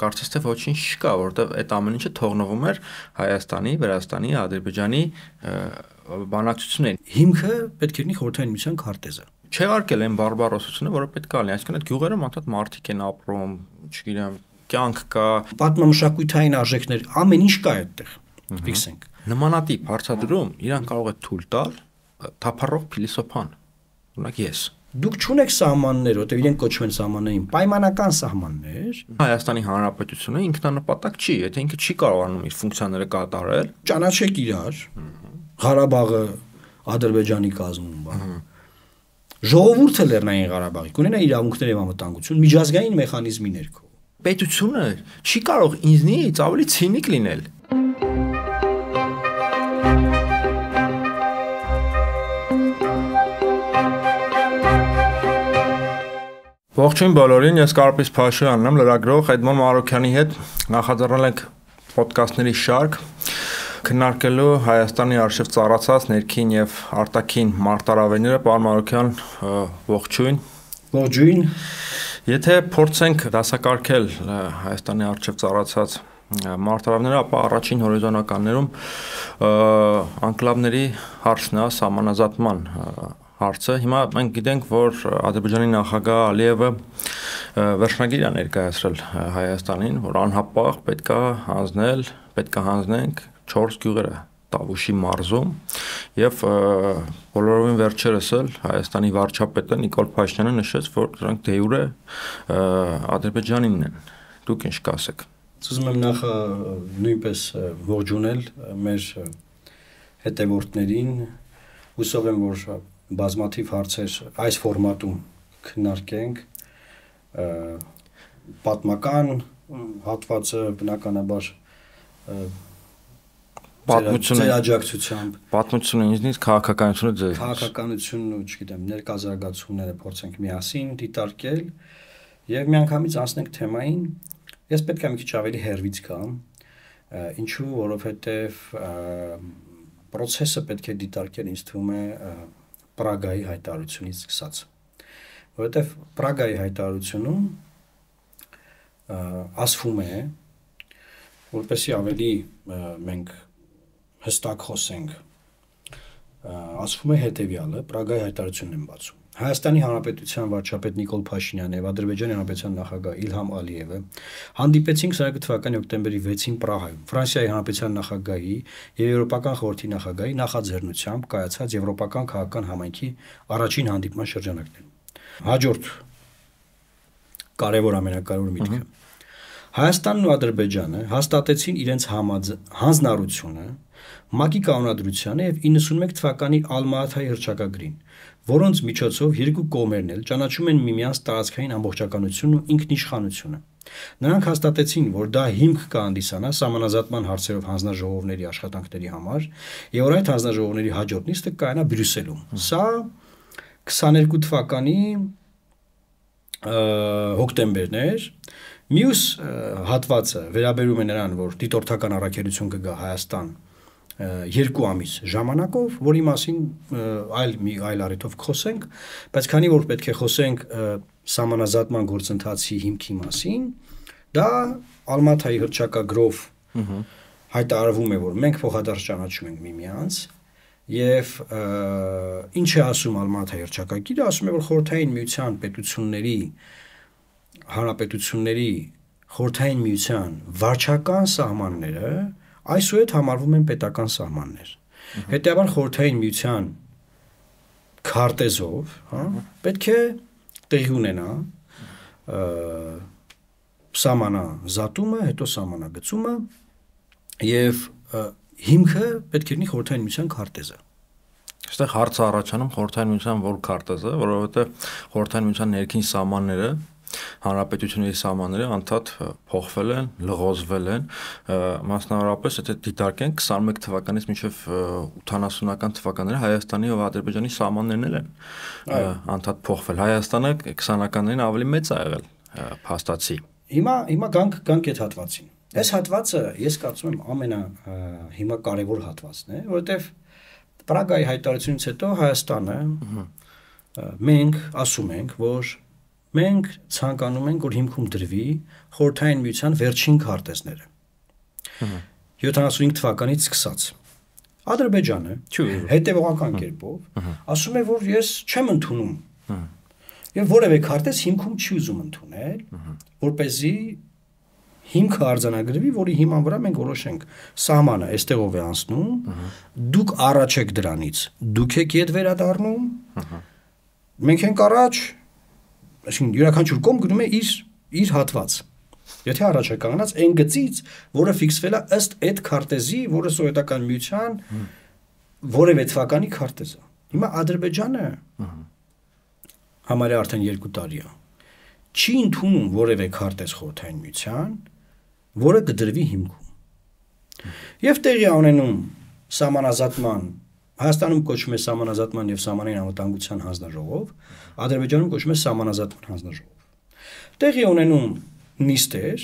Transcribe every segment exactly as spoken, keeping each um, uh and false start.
կարծես թե ոչինչ չկա, որովհետև այդ ամեն ինչը թողնվում էր Հայաստանի, Վրաստանի, Ադրբեջանի բանակցություններին։ Հիմքը պետք է լինի Խորհրդային Միության քարտեզը։ Չեղարկել են բարբարոսությունը, որը պետք է լինի, այսինքն այդ գյուղերը մոտդ մարդիկ են ապրում, չգիտեմ, կյանք կա, պատմամշակութային արժեքներ, ամեն ինչ կա այդտեղ։ Ֆիքսենք։ Նմանատիպ հարցադրում իրան կարող է թույլ տալ թափառող փիլիսոփան։ Օրինակ ես։ Դուք չունեք սահմաններ, որտեղ իրենք կոչվում են սահմաններին, պայմանական սահմաններ։ Հայաստանի Հանրապետությունը ինքնանպատակ չի, եթե ինքը չի կարողանում իր ֆունկցիաները կատարել, ճանաչեք իրար, Ղարաբաղը Ադրբեջանի կազմում բա։ Ժողովուրդը Լեռնային Ղարաբաղի կունենա իրավունքներ եւ անվտանգություն միջազգային մեխանիզմի ներքո։ Պետությունը չի կարող ինձնից ավելի ցինիկ լինել։ Ողջույն բոլորին, ես Կարպիս Փաշյանն եմ, լրագրող Էդմոն Մարոկյանի հետ նախաձեռնել ենք ոդկասթների շարք, քննարկելու Հայաստանի արժեվ ծառացած ներքին եւ արտաքին մարտահրավերները։ Պարոն Մարոկյան, ողջույն։ Ողջույն։ Եթե փորձենք դասակարգել Հայաստանի արժեվ ծառացած մարտահրավերները, ապա առաջին հորիզոնականներում անկլավների հարցն է, սահմանազատման հարցը։ Հիմա մենք գիտենք, որ Ադրբեջանի նախագահ Ալիևը վերջնագիր է ներկայացրել Հայաստանին, որ անհապաղ պետք է հանձնել, պետք է հանձնենք չորս գյուղերը Տավուշի մարզում, եւ բոլորովին վերջերս էլ Հայաստանի վարչապետը Նիկոլ Փաշինյանը նշեց, որ դրանք դե յուրե Ադրբեջանինն են։ Դուք ինչ կասեք։ Ուզում եմ նախ նույնպես ողջունել մեր հետևորդներին, հուսով եմ, որ բազմաթիվ հարցեր այս ֆորմատում քննարկենք, պատմական հատվածը բնականաբար պատմությունը աջակցությամբ, պատմությունը ինձնից քաղաքականությունը ձեզ, քաղաքականությունն ու չգիտեմ ներկայացությունները փորձենք միասին դիտարկել եւ միանգամից անցնենք թեմային։ Ես պետք է մի քիչ ավելի հեռվից գամ, ինչու, որովհետեւ process-ը պետք է դիտարկել, ինձ թվում է Պրագայի հայտարարությունից սկսած, որովհետև Պրագայի հայտարարությունում ասվում է, որպեսզի ավելի մենք հստակ խոսենք, ասվում է հետևյալը, Պրագայի հայտարարությունն եմ բացում։ Հայաստանի Հանրապետության վարչապետ Նիկոլ Փաշինյանը եւ Ադրբեջանի Հանրապետության նախագահ Իլհամ Ալիևը հանդիպեցին քսաներկու թվականի հոկտեմբերի վեցին Պրահայում Ֆրանսիայի Հանրապետության նախագահի եւ Եվրոպական խորհրդի նախագահի նախաձեռնությամբ կայացած Եվրոպական քաղաքական համայնքի առաջին հանդիպման շրջանակներում։ Հաջորդ կարևոր ամենակարևոր միտքը Հայաստանն ու Ադրբեջանը հաստատեցին իրենց հանձնառությունը ՄԱԿ-ի կանոնադրությանը եւ իննսունմեկ թվականի Ալմա-Աթայի հռչակագրին, որոնց միջոցով երկու կողմերն էլ ճանաչում են միմյանց տարածքային ամբողջականությունն ու ինքնիշխանությունը։ Նրանք հաստատեցին, որ դա հիմք կհանդիսանա սահմանազատման հարցերով հանձնաժողովների աշխատանքների համար, եւ որ այդ հանձնաժողովների հաջորդ նիստը կայանա Բրյուսելում։ Սա քսաներկու թվականի հոկտեմբերն էր։ Մյուս հատվածը վերաբերում է նրան, որ դիտորդական առաքելություն կգա Հայաստան երկու ամիս ժամանակով, որի մասին այլ մի այլ առիթով խոսենք, բայց քանի որ պետք է խոսենք սահմանազատման գործընթացի հիմքի մասին, դա Ալմա-Աթայի հռչակագրով հայտարարվում է, որ մենք փոխադարձ ճանաչում ենք միմյանց, եւ ինչ է ասում Ալմա-Աթայի հռչակագիրը, ասում է, որ խորհրդային միության պետությունների հանրապետությունների խորհրդային միության վարչական սահմանները այսուհետ համարվում են պետական սահմաններ։ Հետևաբար խորհրդային միության քարտեզով, հա, պետք է տեղի ունենա սահմանազատումը, հետո սահմանագծումը եւ հիմքը պետք է լինի խորհրդային միության քարտեզը։ Այստեղ հարցը առաջանում խորհրդային միության որ քարտեզը, որովհետեւ խորհրդային միության ներքին սահմանները հանրապետությունների սահմանները անդադ փոխվել են, լղոզվել են, մասնավորապես եթե դիտարկենք քսաներկու թվականից մինչև ութանասունական թվականները Հայաստանի եւ Ադրբեջանի սահմաններն են անդադ փոխվել։ Հայաստանը քսանականներին ավելի մեծ է եղել փաստացի։ Հիմա հիմա գանք գանք այդ հատվածին։ Այս հատվածը ես կարծում եմ ամենա հիմա կարևոր հատվածն է, որովհետեւ Պրագայի հայտարարությունից հետո Հայաստանը մենք ասում ենք, որ մենք ցանկանում ենք, որ հիմքում դրվի խորհրդային միության վերջին քարտեզները։ յոթանասունհինգ թվականից սկսած։ Ադրբեջանը հետևողական կերպով ասում է, որ ես չեմ ընդունում եւ որևէ քարտեզ հիմքում չի ուզում ընդունել, որպեսզի հիմքը արձանագրվի, որի հիման վրա մենք որոշենք սահմանը այստեղով է անցնում, դուք առաջ եք դրանից, դուք եք ետ վերադառնում, մենք ենք առաջ, այսինքն յուրաքանչյուր կողմ գնում է իր իր հատված։ Եթե առաջ է կանգնած այն գծից, որը ֆիքսվել է ըստ այդ քարտեզի, որը սովետական միության որևէ թվականի քարտեզ է։ Հիմա Ադրբեջանը համարյա արդեն երկու տարի է չի ընդունում որևէ քարտեզ խորհրդային միության, որը կդրվի հիմքում։ Եվ տեղի ունենում սահմանազատման, Հայաստանում կոչվում է սահմանազատման եւ սահմանային անվտանգության հանձնաժողով, Ադրբեջանում կոչվում է սահմանազատման հանձնաժողով։ Տեղի ունենում նիստեր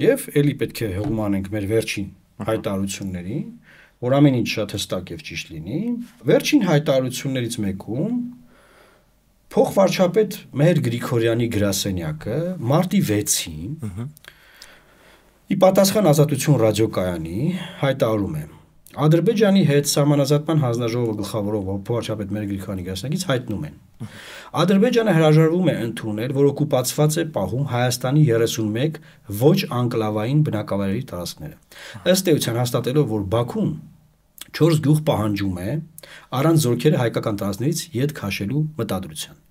եւ ելի պետք է հողում անենք մեր վերջին հայտարարություններին, որ ամեն ինչ շատ հստակ եւ ճիշտ լինի։ Վերջին հայտարարություններից մեկում փոխվարչապետ Մեհեր Գրիգորյանի գրասենյակը մարտի վեցին ի պատասխան Ազատություն ռադիոկայանի հայտարարում է. Ադրբեջանի հետ սահմանազատման հանձնաժողովը գլխավորող փոխվարչապետ Մեհեր Գրիգորյանի գրասենյակից հայտնում են. Ադրբեջանը հրաժարվում է ընդունել, որ օկուպացված է պահում Հայաստանի երեսունմեկ ոչ անկլավային բնակավայրերի տարածքները։ Ըստ էության հաստատելով, որ Բաքուն չորս գյուղ պահանջում է առանց զորքերը հայկական տարածքներից ետ քաշելու մտադրության։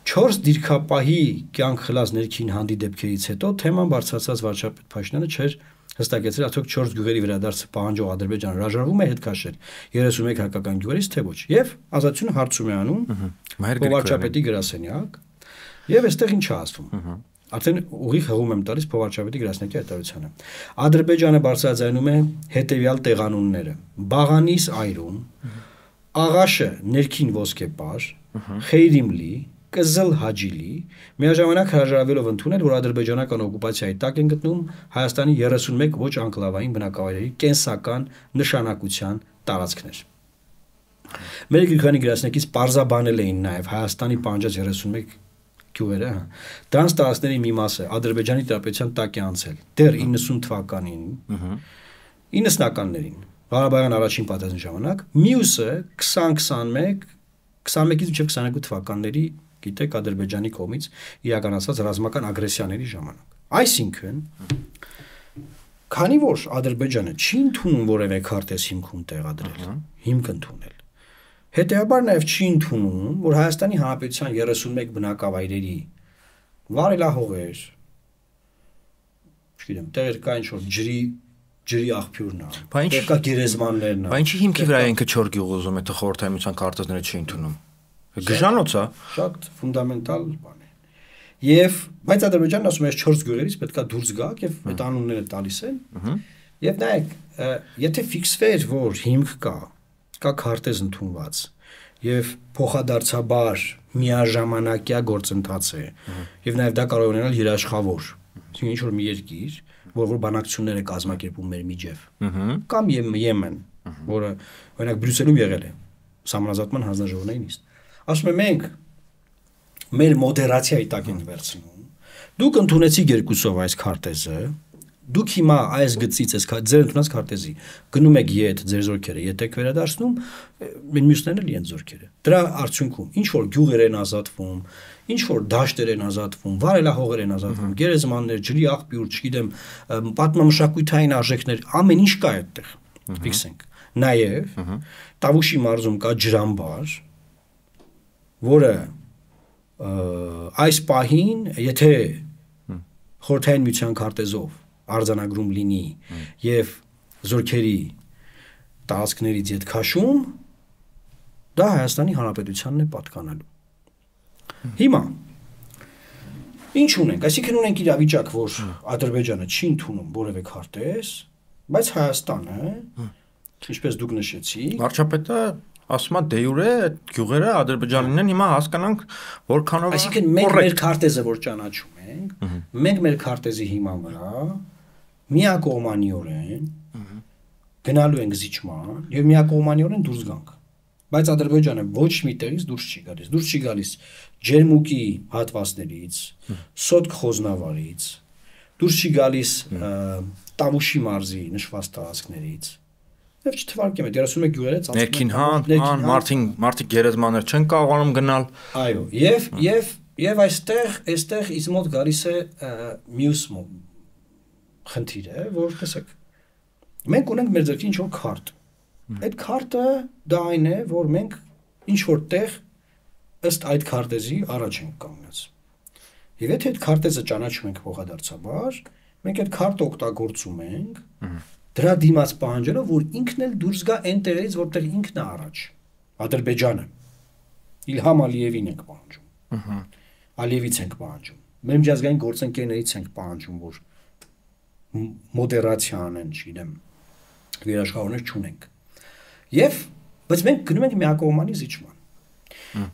Չորս դիրքապահի կյանք խլած ներքին հանդի դեպքերից հետո թեման բարձրացած վարչապետ Փաշինյանը չէր հստակեցրել արդյոք չորս գյուղերի վերադարձը պահանջող Ադրբեջանը հրաժարվում է հետ քաշել երեսունմեկ հայկական գյուղերից թե ոչ։ Եվ Ազատությունը հարցում է անում փոխվարչապետի գրասենյակ, եւ այստեղ ինչ է ասվում։ Արդեն ուղիղ հղում եմ տալիս փոխվարչապետի գրասենյակի հայտարարությանը։ Ադրբեջանը բարձրաձայնում է հետեւյալ տեղանունները. Բաղանիս այրում, Աղաշը ներքին ոսկեպար, Խեյրիմլի, Կզլ Հաջիլի, միաժամանակ հրաժարվելով ընդունել, որ ադրբեջանական օկուպացիայի տակ են գտնում Հայաստանի երեսունմեկ ոչ անկլավային բնակավայրերի կենսական նշանակության տարածքներ։ Մեր Գրիգորյանի գրասենյակից պարզաբանել էին նաև Հայաստանի պահանջած երեսունմեկ գյուղերը, դրանց տարածքների մի մասը Ադրբեջանի տիրապետության տակ է անցել դեռ իննսուն թվականին, իննսնականներին, Ղարաբաղյան առաջին պատերազմի ժամանակ, մյուսը քսան քսանմեկ քսանմեկից մինչև քսաներկու թվականների, գիտեք, Ադրբեջանի կողմից իրականացված ռազմական ագրեսիաների ժամանակ։ Այսինքն, քանի որ Ադրբեջանը չի ընդունում որևէ քարտեզ հիմքում տեղադրել, հիմք ընդունել, հետեւաբար նաև չի ընդունում, որ Հայաստանի Հանրապետության երեսունմեկ բնակավայրերի վարելահողեր, չգիտեմ, տեղեր կա ինչ-որ ջրի ջրի աղբյուրն է, տեղկա գերեզմաններն է։ Բայց ինչի հիմքի վրա ինքը չոր գյուղ ուզում է, թե խորհրդային միության քարտեզները չի ընդունում։ Գժանոց է։ Շատ ֆունդամենտալ բան է։ Եվ բայց Ադրբեջանն ասում է, չորս գյուղերից պետքա դուրս գաք եւ այդ անունները տալիս են։ Եվ նայեք, եթե ֆիքսվեր, որ հիմք կա, կա քարտեզ ընդունված եւ փոխադարձաբար միաժամանակյա գործընթաց է եւ նաեւ դա կարող է ունենալ երաշխավոր, այսինքն ինչ որ մի երկիր, որ որ բանակցություններ է կազմակերպում մեր միջև, կամ Եմեն, որը օրինակ Բրյուսելում եղել է սահմանազատման հանձնաժողովների նիստ, ասում է մենք մեր մոդերացիայի տակ ենք վերցնում, դուք ընդունեցիք երկուսով այս քարտեզը, դուք հիմա այս գծից այս ձեր ընդունած քարտեզի գնում եք ետ ձեր զորքերը, ետ եք վերադարձնում, մյուսներն էլ են զորքերը։ Դրա արդյունքում ինչ որ գյուղեր են ազատվում, ինչ որ դաշտեր են ազատվում, վարելահողեր են ազատվում, գերեզմաններ, ջրի աղբյուր, չգիտեմ, պատմամշակութային արժեքներ, ամեն ինչ կա այդտեղ։ Ֆիքսենք։ Նաև Տավուշի մարզում կա ջրամբար, որը այս պահին, եթե խորհրդային միության քարտեզով արձանագրում լինի եւ զորքերի տարածքներից ետ քաշում, դա Հայաստանի Հանրապետությանն է պատկանելու։ Հիմա ինչ ունենք, այսինքն ունենք իրավիճակ, որ Ադրբեջանը չի ընդունում որևէ քարտեզ, բայց Հայաստանը, ինչպես դուք նշեցիք, վարչապետը ասում է դե յուրե այդ գյուղերը Ադրբեջանին են, հիմա հասկանանք որքանով։ Այսինքն մենք մեր քարտեզը որ ճանաչում ենք, մենք մեր քարտեզի հիման վրա միակողմանիորեն գնալու ենք զիջման եւ միակողմանիորեն դուրս գանք։ բայց Ադրբեջանը ոչ մի տեղից դուրս չի գալիս։ Դուրս չի գալիս Ջերմուկի հատվածներից, Սոտք խոզնավարից, դուրս չի գալիս Տավուշի մարզի նշված տարածքներից։ Եվ չթվարկեմ, այդ երեսունմեկ գյուղերը ծածկում են ներքին հան, մարդին, մարդիկ գերեզմաններ չեն կարողանում գնալ։ Այո, եւ եւ եւ այստեղ, այստեղ ինձ մոտ գալիս է մյուս խնդիրը, որ տեսեք, մենք ունենք մեր ձեռքին ինչ-որ քարտ։ Այդ քարտը դա այն է, որ մենք ինչ-որ տեղ ըստ այդ քարտեզի առաջ ենք կանգնած։ Եվ եթե այդ քարտեզը ճանաչում ենք փոխադարձաբար, մենք այդ քարտը օգտագործում ենք, դրա դիմաց պահանջելով, որ ինքն էլ դուրս գա այն տեղերից, որտեղ ինքն է առաջ։ Ադրբեջանը Իլհամ Ալիևին ենք պահանջում։ Ալիևից ենք պահանջում։ Մեր միջազգային գործընկերներից ենք պահանջում, որ մոդերացիա անեն, չգիտեմ, վերաշխավորներ չունենք։ Եվ բայց մենք գնում ենք միակողմանի զիջման։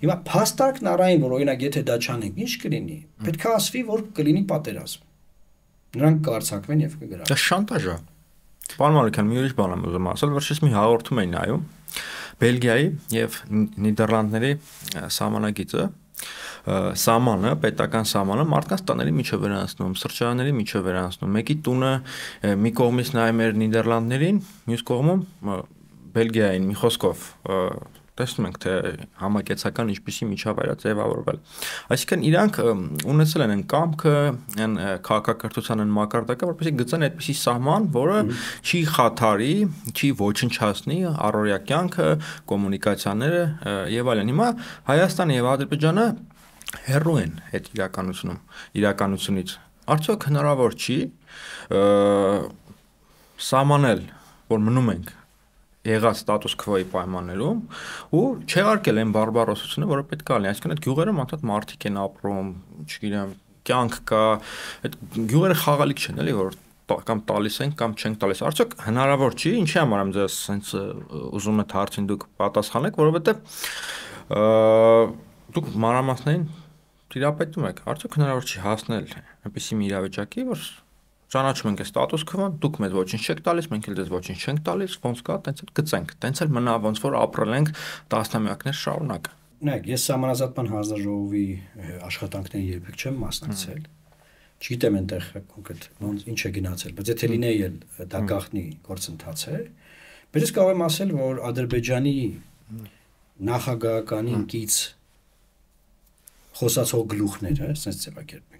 Հիմա փաստարկն առայն, որ օրինակ եթե դա չանենք, ինչ կլինի։ Պետք է ասվի, որ կլինի պատերազմ։ Նրանք կարձակվեն եւ կգրավեն։ Դա շանտաժ է։ Պարոն Մարուկյան, մի ուրիշ բան եմ ուզում ասել, վերջից մի հաղորդում էին նայում Բելգիայի եւ Նիդերլանդների սահմանագիծը, սահմանը, պետական սահմանը մարդկանց տաների միջով վերանցնում, սրճարանների միջով վերանցնում։ Մեկի տունը մի կողմից նայում էր Նիդերլանդներին, մյուս կողմում Բելգիային, մի խոսքով տեսնում ենք, թե համակեցական ինչպիսի միջավայր է ձևավորվել։ Այսինքն իրանք ունեցել են կամքը, այն քաղաքակրթության են մակարդակը, որպեսզի գծեն այդպիսի սահման, որը չի խաթարի, չի ոչնչացնի առօրյա կյանքը, կոմունիկացիաները եւ այլն։ Հիմա Հայաստանը եւ Ադրբեջանը հեռու են այդ իրականությունում, իրականությունից։ Արդյոք հնարավոր չի սահմանել, որ մնում ենք եղած ստատուս քվոյի պայմաններում ու չեղարկել այն բարբարոսությունը, որը պետք է լինի։ Այսինքն այդ գյուղերում անդադ մարդիկ են ապրում, չգիտեմ, կյանք կա, այդ գյուղերը խաղալիք չեն, էլի, որ կամ տալիս են կամ չեն տալիս։ Արդյոք հնարավոր չի, ինչի համար եմ ձեզ հենց ուզում եք հարցին դուք պատասխանեք, որովհետև դուք մանրամասներին տիրապետում եք։ Արդյոք հնարավոր չի հասնել այնպիսի մի իրավիճակի, որ ճանաչում ենք ստատուս քվոն, դուք մեզ ոչինչ չեք տալիս, մենք էլ դες ոչինչ չենք տալիս, ոնց կա, տենց էլ գծենք, տենց էլ մնա, ոնց որ ապրել ենք տասնամյակներ շարունակ։ Նայեք, ես Սահմանազատման հանձնաժողովի աշխատանքներին երբեք չեմ մասնակցել։ Չգիտեմ այնտեղ կոնկրետ ոնց ինչ է գնացել, բայց եթե լինեի էլ դա գաղտնի գործընթաց է, բայց ես կարող եմ ասել, որ Ադրբեջանի նախագահականին կից խոսացող գլուխները, ասենց ձևակերպենք,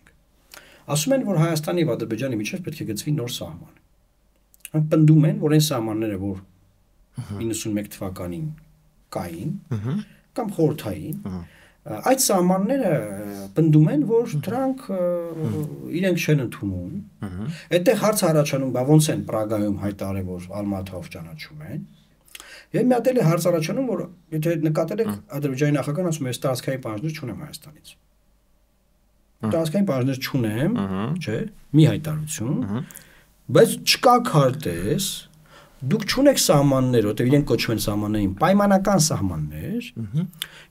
ասում են, որ Հայաստանի եւ Ադրբեջանի միջեւ պետք է գծվի նոր սահման։ Նրանք պնդում են, որ այն սահմանները, որ իննսունմեկ թվականին կային, կամ խորհրդային, այդ սահմանները պնդում են, որ դրանք իրենք չեն ընդունում։ Այդտեղ հարց առաջանում, բա ոնց են Պրագայում հայտարարել, որ Ալմաթով ճանաչում են։ Եվ մի հատ էլ հարց առաջանում, որ եթե նկատել եք Ադրբեջանի նախագահն ասում է, ես տարածքային պահանջներ չունեմ Հայաստանից։ Տարածքային պահանջներ չունեմ, չէ, մի հայտարարություն, բայց չկա քարտեզ, դուք չունեք սահմաններ, որտեղ իրենք կոչվում են սահմաններին, պայմանական սահմաններ,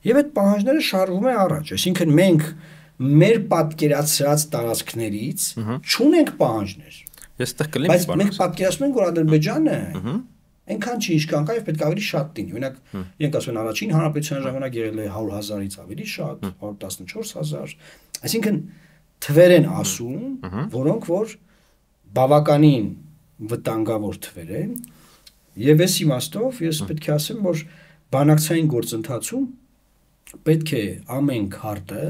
եւ այդ պահանջները շարժվում են առաջ, այսինքն մենք մեր պատկերացրած տարածքներից չունենք պահանջներ։ Ես այդտեղ կլինի, բայց մենք պատկերացնում ենք, որ Ադրբեջանը այնքան չի ինչքան կա եւ պետք է ավելի շատ լինի։ Օրինակ, իրենք ասում են առաջին հանրապետության ժամանակ եղել է հարյուր հազարից ավելի շատ, հարյուր տասնչորս հազար։ Այսինքն թվեր են ասում, որոնք որ բավականին վտանգավոր թվեր են, եւ այս իմաստով ես պետք է ասեմ, որ բանակցային գործընթացում պետք է ամեն քարտը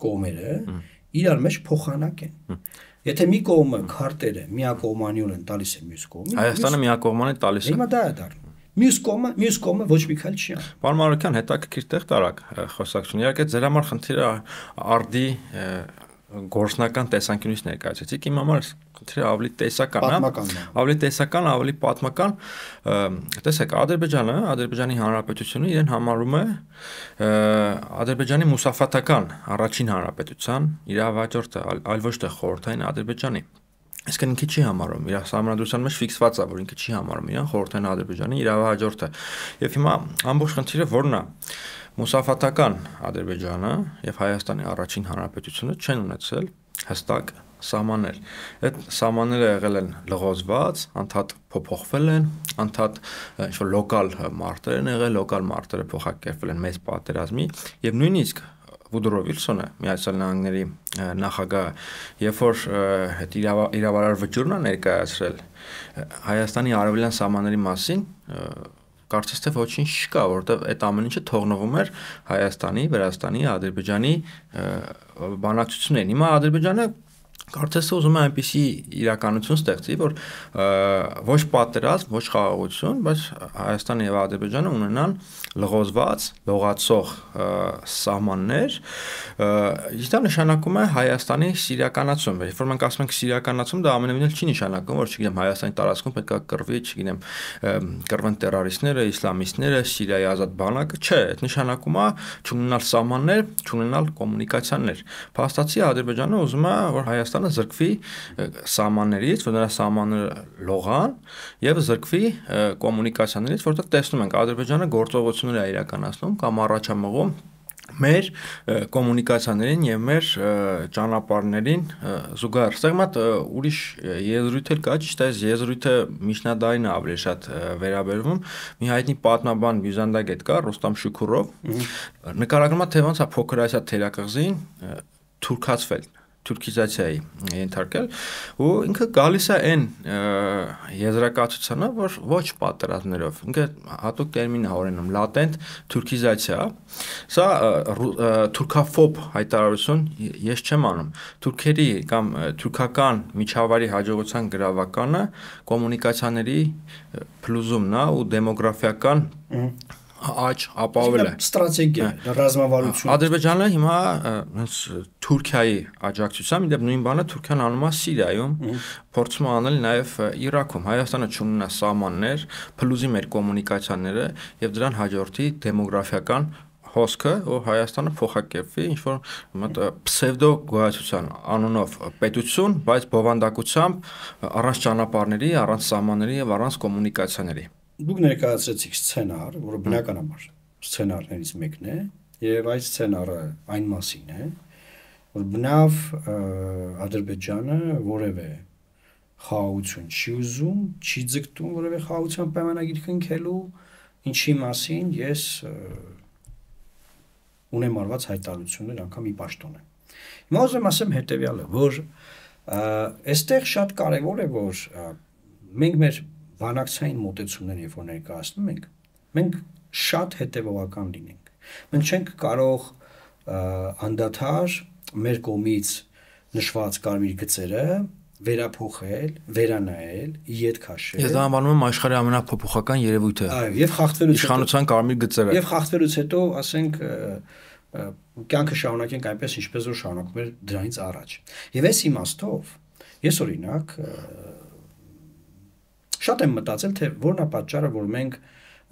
կողմերը իրար մեջ փոխանակեն։ Եթե մի կողմը քարտերը միակողմանիորեն են տալիս է մյուս կողմին, Հայաստանը միակողմանի տալիս է։ Հիմա դա է դառնում։ Մյուս կողմը, մյուս կողմը ոչ մի քայլ չի անում։ Պարոն Մարուկյան, հետաքրքիր տեղ տարակ խոսակցություն։ Իհարկե ձեր համար խնդիրը արդի գործնական տեսանկյունից ներկայացրեցիք, իմ համար խնդիրը ավելի տեսական է, ավելի տեսական, ավելի պատմական։ Տեսեք, Ադրբեջանը, Ադրբեջանի Հանրապետությունը իրեն համարում է Ադրբեջանի մուսաֆաթական առաջին հանրապետության իրավաճառը, այլ ոչ թե խորհրդային Ադրբեջանի։ Այսինքն ինքը չի համարում, իր համանդրության մեջ ֆիքսված է, որ ինքը չի համարում իրան խորհրդային Ադրբեջանի իրավաճառը։ Եվ հիմա ամբողջ խնդիրը որն է։ Մուսաֆաթական Ադրբեջանը եւ Հայաստանի առաջին հանրապետությունը չեն ունեցել հստակ սահմաններ։ Այդ սահմանները եղել են լղոզված, անդադ փոփոխվել են, անդադ ինչ-որ լոկալ մարտեր են եղել, լոկալ մարտերը փոխակերպվել են մեծ պատերազմի, եւ նույնիսկ Վուդրո Վիլսոնը, Միացյալ Նահանգների նախագահը, երբ որ այդ իրավարար վճիռն է ներկայացրել Հայաստանի արևելյան սահմանների մասին, կարծես թե ոչինչ չկա, որովհետև այդ ամեն ինչը թողնվում էր Հայաստանի, Վրաստանի, Ադրբեջանի բանակցություններին։ Հիմա Ադրբեջանը կարծես թե ուզում է այնպիսի իրականություն ստեղծի, որ ոչ պատերազմ, ոչ խաղաղություն, բայց Հայաստանը եւ Ադրբեջանը ունենան լղոզված, լողացող սահմաններ, իսկ դա նշանակում է Հայաստանի սիրիականացում։ Երբ որ մենք ասում ենք սիրիականացում, դա ամենևին չի նշանակում, որ չգիտեմ Հայաստանի տարածքում պետք է կռվի, չգիտեմ, կռվեն տերորիստները, իսլամիստները, Սիրիայի ազատ բանակը, չէ, այդ նշանակում է չունենալ սահմաններ, չունենալ կոմունիկացիաներ։ Փաստացի Ադրբեջանը ուզում է, որ Հայաստանը զրկվի սահմաններից, որ նրա սահմանները լողան եւ զրկվի կոմունիկացիաներից, որտեղ տեսնում ենք Ադրբեջանը գործողություններ է իրականացնում կամ առաջամղում մեր կոմունիկացիաներին եւ մեր ճանապարհներին զուգահեռ։ Սա մատ ուրիշ եզրույթ էլ կա, ճիշտ է, այս եզրույթը միջնադարին է ավելի շատ վերաբերվում։ Մի հայտնի պատմաբան բյուզանդագետ կա, Ռուստամ Շուքուրով, նկարագրում է թե ոնց է փոքր Ասիա թերակղզին թուրքացվել, թուրքիզացիայի ենթարկել, ու ինքը գալիս է այն եզրակացությանը, որ ոչ պատերազմներով, ինքը հատուկ տերմին է օրենում լատենտ թուրքիզացիա, սա թուրքաֆոբ հայտարարություն ես չեմ անում, թուրքերի կամ թուրքական միջավայրի հաջողության գրավականը կոմունիկացիաների փլուզումն է ու դեմոգրաֆիական աճ ապահովել է ստրատեգիա, ռազմավարություն։ Ադրբեջանը հիմա Թուրքիայի աջակցությամբ, իդեպ նույն բանը Թուրքիան անում է Սիրիայում, փորձում է անել նաև Իրաքում։ Հայաստանը չունենա սահմաններ, փլուզի մեր կոմունիկացիաները եւ դրան հաջորդի դեմոգրաֆիական հոսքը, որ Հայաստանը փոխակերպվի ինչ-որ պսևդո գոյացության անունով պետություն, բայց բովանդակությամբ առանց ճանապարհների, առանց սահմանների եւ առանց կոմունիկացիաների։ Դուք ներկայացրեցիք սցենար, որը բնականաբար սցենարներից մեկն է, եւ այդ սցենարը այն մասին է, որ բնավ Ադրբեջանը որևէ խաղաղություն չի ուզում, չի ձգտում որևէ խաղաղության պայմանագիր կնքելու, ինչի մասին ես ունեմ արված հայտարարություններ անգամ ի պաշտոն եմ։ Հիմա ուզում ասեմ հետեւյալը, որ այստեղ շատ կարեւոր է, որ մենք մեր բանակցային մոտեցումներ երբ որ ներկայացնում ենք, մենք շատ հետևողական լինենք։ Մենք չենք կարող անդադար մեր կողմից նշված կարմիր գծերը վերափոխել, վերանայել, իդ քաշել։ Ես դա անվանում եմ աշխարհի ամենափոփոխական երևույթը։ Այո, եւ խախտվելուց իշխանության կարմիր գծերը։ Եվ խախտվելուց հետո, ասենք, կյանքը շարունակենք այնպես, ինչպես որ շարունակում էր դրանից առաջ։ Եվ այս իմաստով ես օրինակ շատ եմ մտածել, թե որն է պատճառը, որ մենք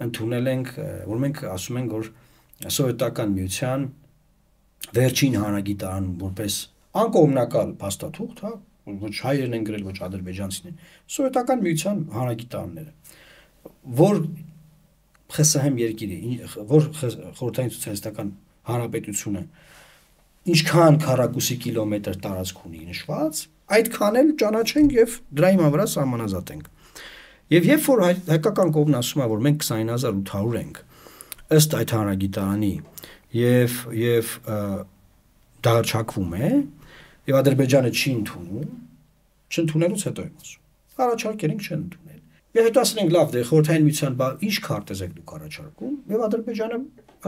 ընդունել ենք, որ մենք ասում ենք, որ սովետական միության վերջին հանրագիտարան որպես անկողմնակալ փաստաթուղթ, հա, ոչ հայերն են գրել, ոչ ադրբեջանցիներն, սովետական միության հանրագիտարանները, որ ԽՍՀՄ երկիրը, որ խորհրդային սոցիալիստական հանրապետությունը ինչքան քառակուսի կիլոմետր տարածք ունի նշված, այդքան էլ ճանաչենք եւ դրա հիման վրա սահմանազատենք։ Եվ երբ որ հայկական կողմն ասում է, որ մենք քսանինը հազար ութ հարյուր ենք ըստ այդ հանրագիտարանի եւ եւ դա հռչակվում է, եւ Ադրբեջանը չի ընդունում, չընդունելուց հետո եմ ասում։ Առաջարկել ենք չեն ընդունել։ Եվ հետո ասել ենք լավ, դե խորհրդային միության ինչ քարտեզ եք դուք առաջարկում, եւ Ադրբեջանը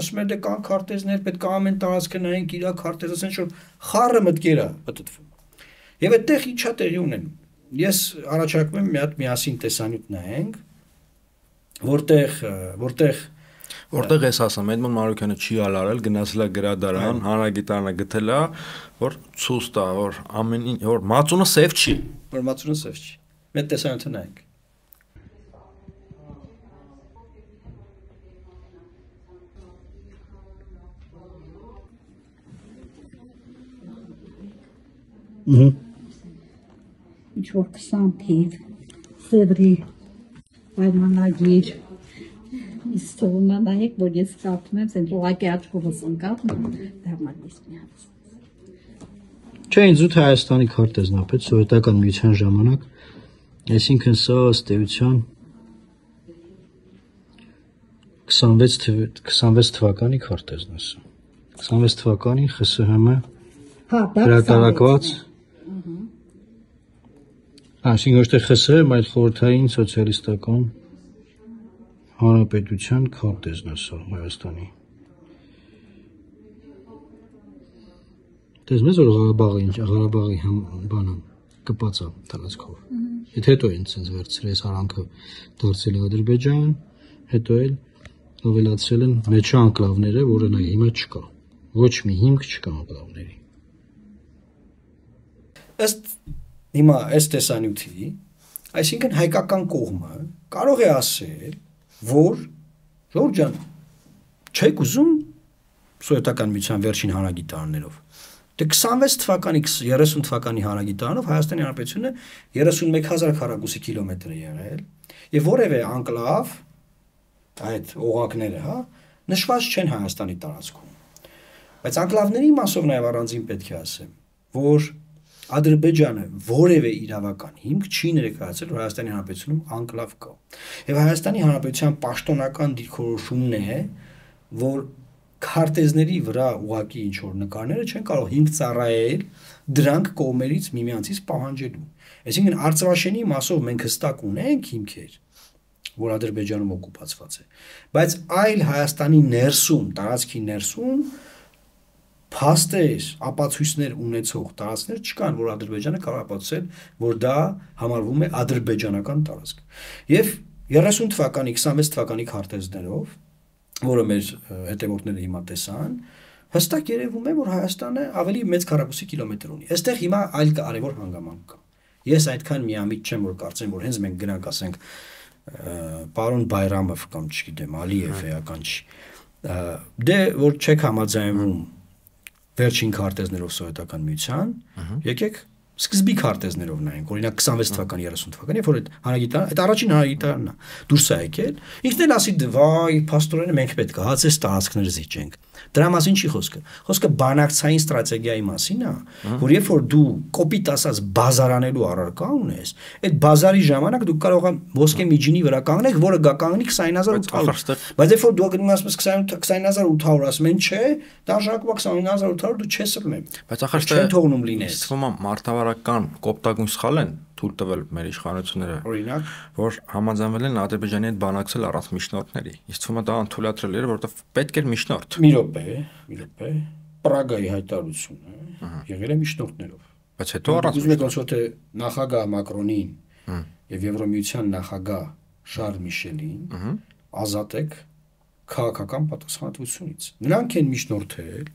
ասում է դե կան քարտեզներ, պետք է ամեն տարածքը նայենք իր քարտեզը, ասեն որ խառը մտքեր է պատտվում։ Եվ այդտեղ ինչա տեղի ունենում։ Ես առաջարկում եմ մի հատ միասին տեսանյութ նայենք, որտեղ որտեղ որտեղ ես ասում, Էդմոն Մարուկյանը չի ալարել, գնացել է գրադարան, հանրագիտարանը գտել է, որ ցույց տա, որ ամեն ինչ, որ մածունը սև չի, որ մածունը սև չի։ Մենք տեսանյութը նայենք։ Ահա ինչ որ քսան թիվ Սևրի պայմանագիր իստորնա նայեք, որ ես կարդում եմ, ասեն ուղղակի աչքովս ընկավ, դառնալիս մի հատ։ Չէ, ինձ ութ Հայաստանի քարտեզն է պետք սովետական միության ժամանակ, այսինքն սա ըստ էության քսանվեց թվականի քարտեզն է սա։ քսանվեց թվականին ԽՍՀՄ հրատարակված Այսինքն ոչ թե ԽՍՀՄ, այլ խորհրդային սոցիալիստական հանրապետության քարտեզն է սա Հայաստանի։ Տեսնում ես որ Ղարաբաղի ինչ Ղարաբաղի բանը կպած է տարածքով։ Եթե հետո են ցենց վերցրել այս արանքը դարձել է Ադրբեջան, հետո էլ ավելացրել են մեջա անկլավները, որը նա հիմա չկա։ Ոչ մի հիմք չկա անկլավների։ Ըստ հիմա այս տեսանյութի, այսինքն հայկական կողմը կարող է ասել, որ Ժորժ ջան, չեք ուզում սովետական միության վերջին հանրագիտարաններով։ Դե քսանվեց թվականի երեսուն թվականի հանրագիտարանով Հայաստանի Հանրապետությունը երեսունմեկ հազար քառակուսի կիլոմետր է եղել, եւ որևէ անկլավ այդ օղակները, հա, նշված չեն Հայաստանի տարածքում։ Բայց անկլավների մասով նաեւ առանձին պետք է ասեմ, որ Ադրբեջանը որևէ իրավական հիմք չի ներկայացրել, որ Հայաստանի Հանրապետությունում անկլավ կա։ Եվ Հայաստանի Հանրապետության պաշտոնական դիրքորոշումն է, որ քարտեզների վրա ուղակի ինչ որ նկարները չեն կարող հիմք ծառայել դրանք կողմերից միմյանցից պահանջելու։ Այսինքն Արցախաշենի մասով մենք հստակ ունենք հիմքեր, որ Ադրբեջանում օկուպացված է, բայց այլ Հայաստանի ներսում, տարածքի ներսում փաստեր, ապացույցներ ունեցող տարածքներ չկան, որ Ադրբեջանը կարող է ապացուցել, որ դա համարվում է ադրբեջանական տարածք։ Եվ երեսուն թվականի, քսանվեց թվականի քարտեզներով, որը մեր հետևորդները հիմա տեսան, հստակ երևում է, որ Հայաստանը ավելի մեծ քառակուսի կիլոմետր ունի։ Այստեղ հիմա այլ կարևոր հանգամանք կա։ Ես այդքան միամիտ չեմ, որ կարծեմ, որ հենց մենք գնանք ասենք պարոն Բայրամով կամ չգիտեմ, Ալիև էական չի։ Դե որ չեք համաձայնվում վերջին քարտեզներով սովետական միության, եկեք սկզբի քարտեզներով նայենք, օրինակ քսանվեց թվականի, երեսուն թվականի, որ այդ հանրագիտարան, այդ առաջին հանրագիտարանն է, դուրս է եկել, ինքն էլ ասի վայ, փաստորեն մենք պետք է հացես տարածքներ զիջենք։ Դրա մասին չի խոսքը։ Խոսքը բանակցային ստրատեգիայի մասին է, որ երբ որ դու կոպիտ ասած բազարանելու առարկա ունես, այդ բազարի ժամանակ դու կարող ես ոսկե միջինի վրա կանգնել, որը գա կանգնի քսան հազար ութ հարյուր։ Բայց երբ որ դու գնում ես քսան հազար ութ հարյուր, ասում են չէ, դա շարունակում քսան հազար ութ հարյուր դու չես ըլնեմ։ Բայց ախր չեն թողնում լինես։ Թվում է մարտավարական կոպտագույն սխալ են թույլ տվել մեր իշխանությունները, օրինակ, որ համաձայնվել են Ադրբեջանի հետ բանակցել առանց միջնորդների։ Իսկ թվում է դա անթույլատրել էր, որովհետև պետք էր միջնորդ։ Մի րոպե, մի րոպե, Պրագայի հայտարարությունը եղել է միջնորդներով։ Բայց հետո առանց ուզում եք ոնց թե նախագահ Մակրոնին եւ Եվրոմիության նախագահ Շարլ Միշելին ազատեք քաղաքական պատասխանատվությունից։ Նրանք են միջնորդել,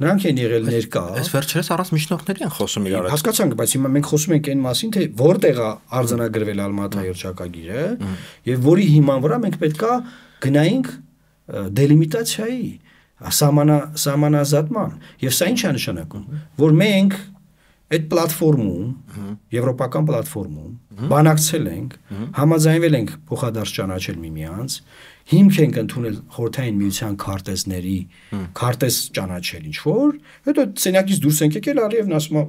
նրանք են եղել ներկա։ Այս վերջերս առանց միջնորդների են խոսում իրար։ Հասկացանք, բայց հիմա մենք խոսում ենք այն մասին, թե որտեղ է արձանագրվել Ալմատա հռչակագիրը եւ որի հիման վրա մենք պետքա գնայինք դելիմիտացիայի, սահմանա սահմանազատման։ Եվ սա ինչ է նշանակում, որ մենք այդ պլատֆորմում, եվրոպական պլատֆորմում բանակցել ենք, համաձայնվել ենք փոխադարձ ճանաչել միմյանց, հիմք ենք ընդունել խորհրդային միության քարտեզների, քարտեզ ճանաչել ինչ որ, հետո սենյակից դուրս ենք եկել, Ալիևն ասում է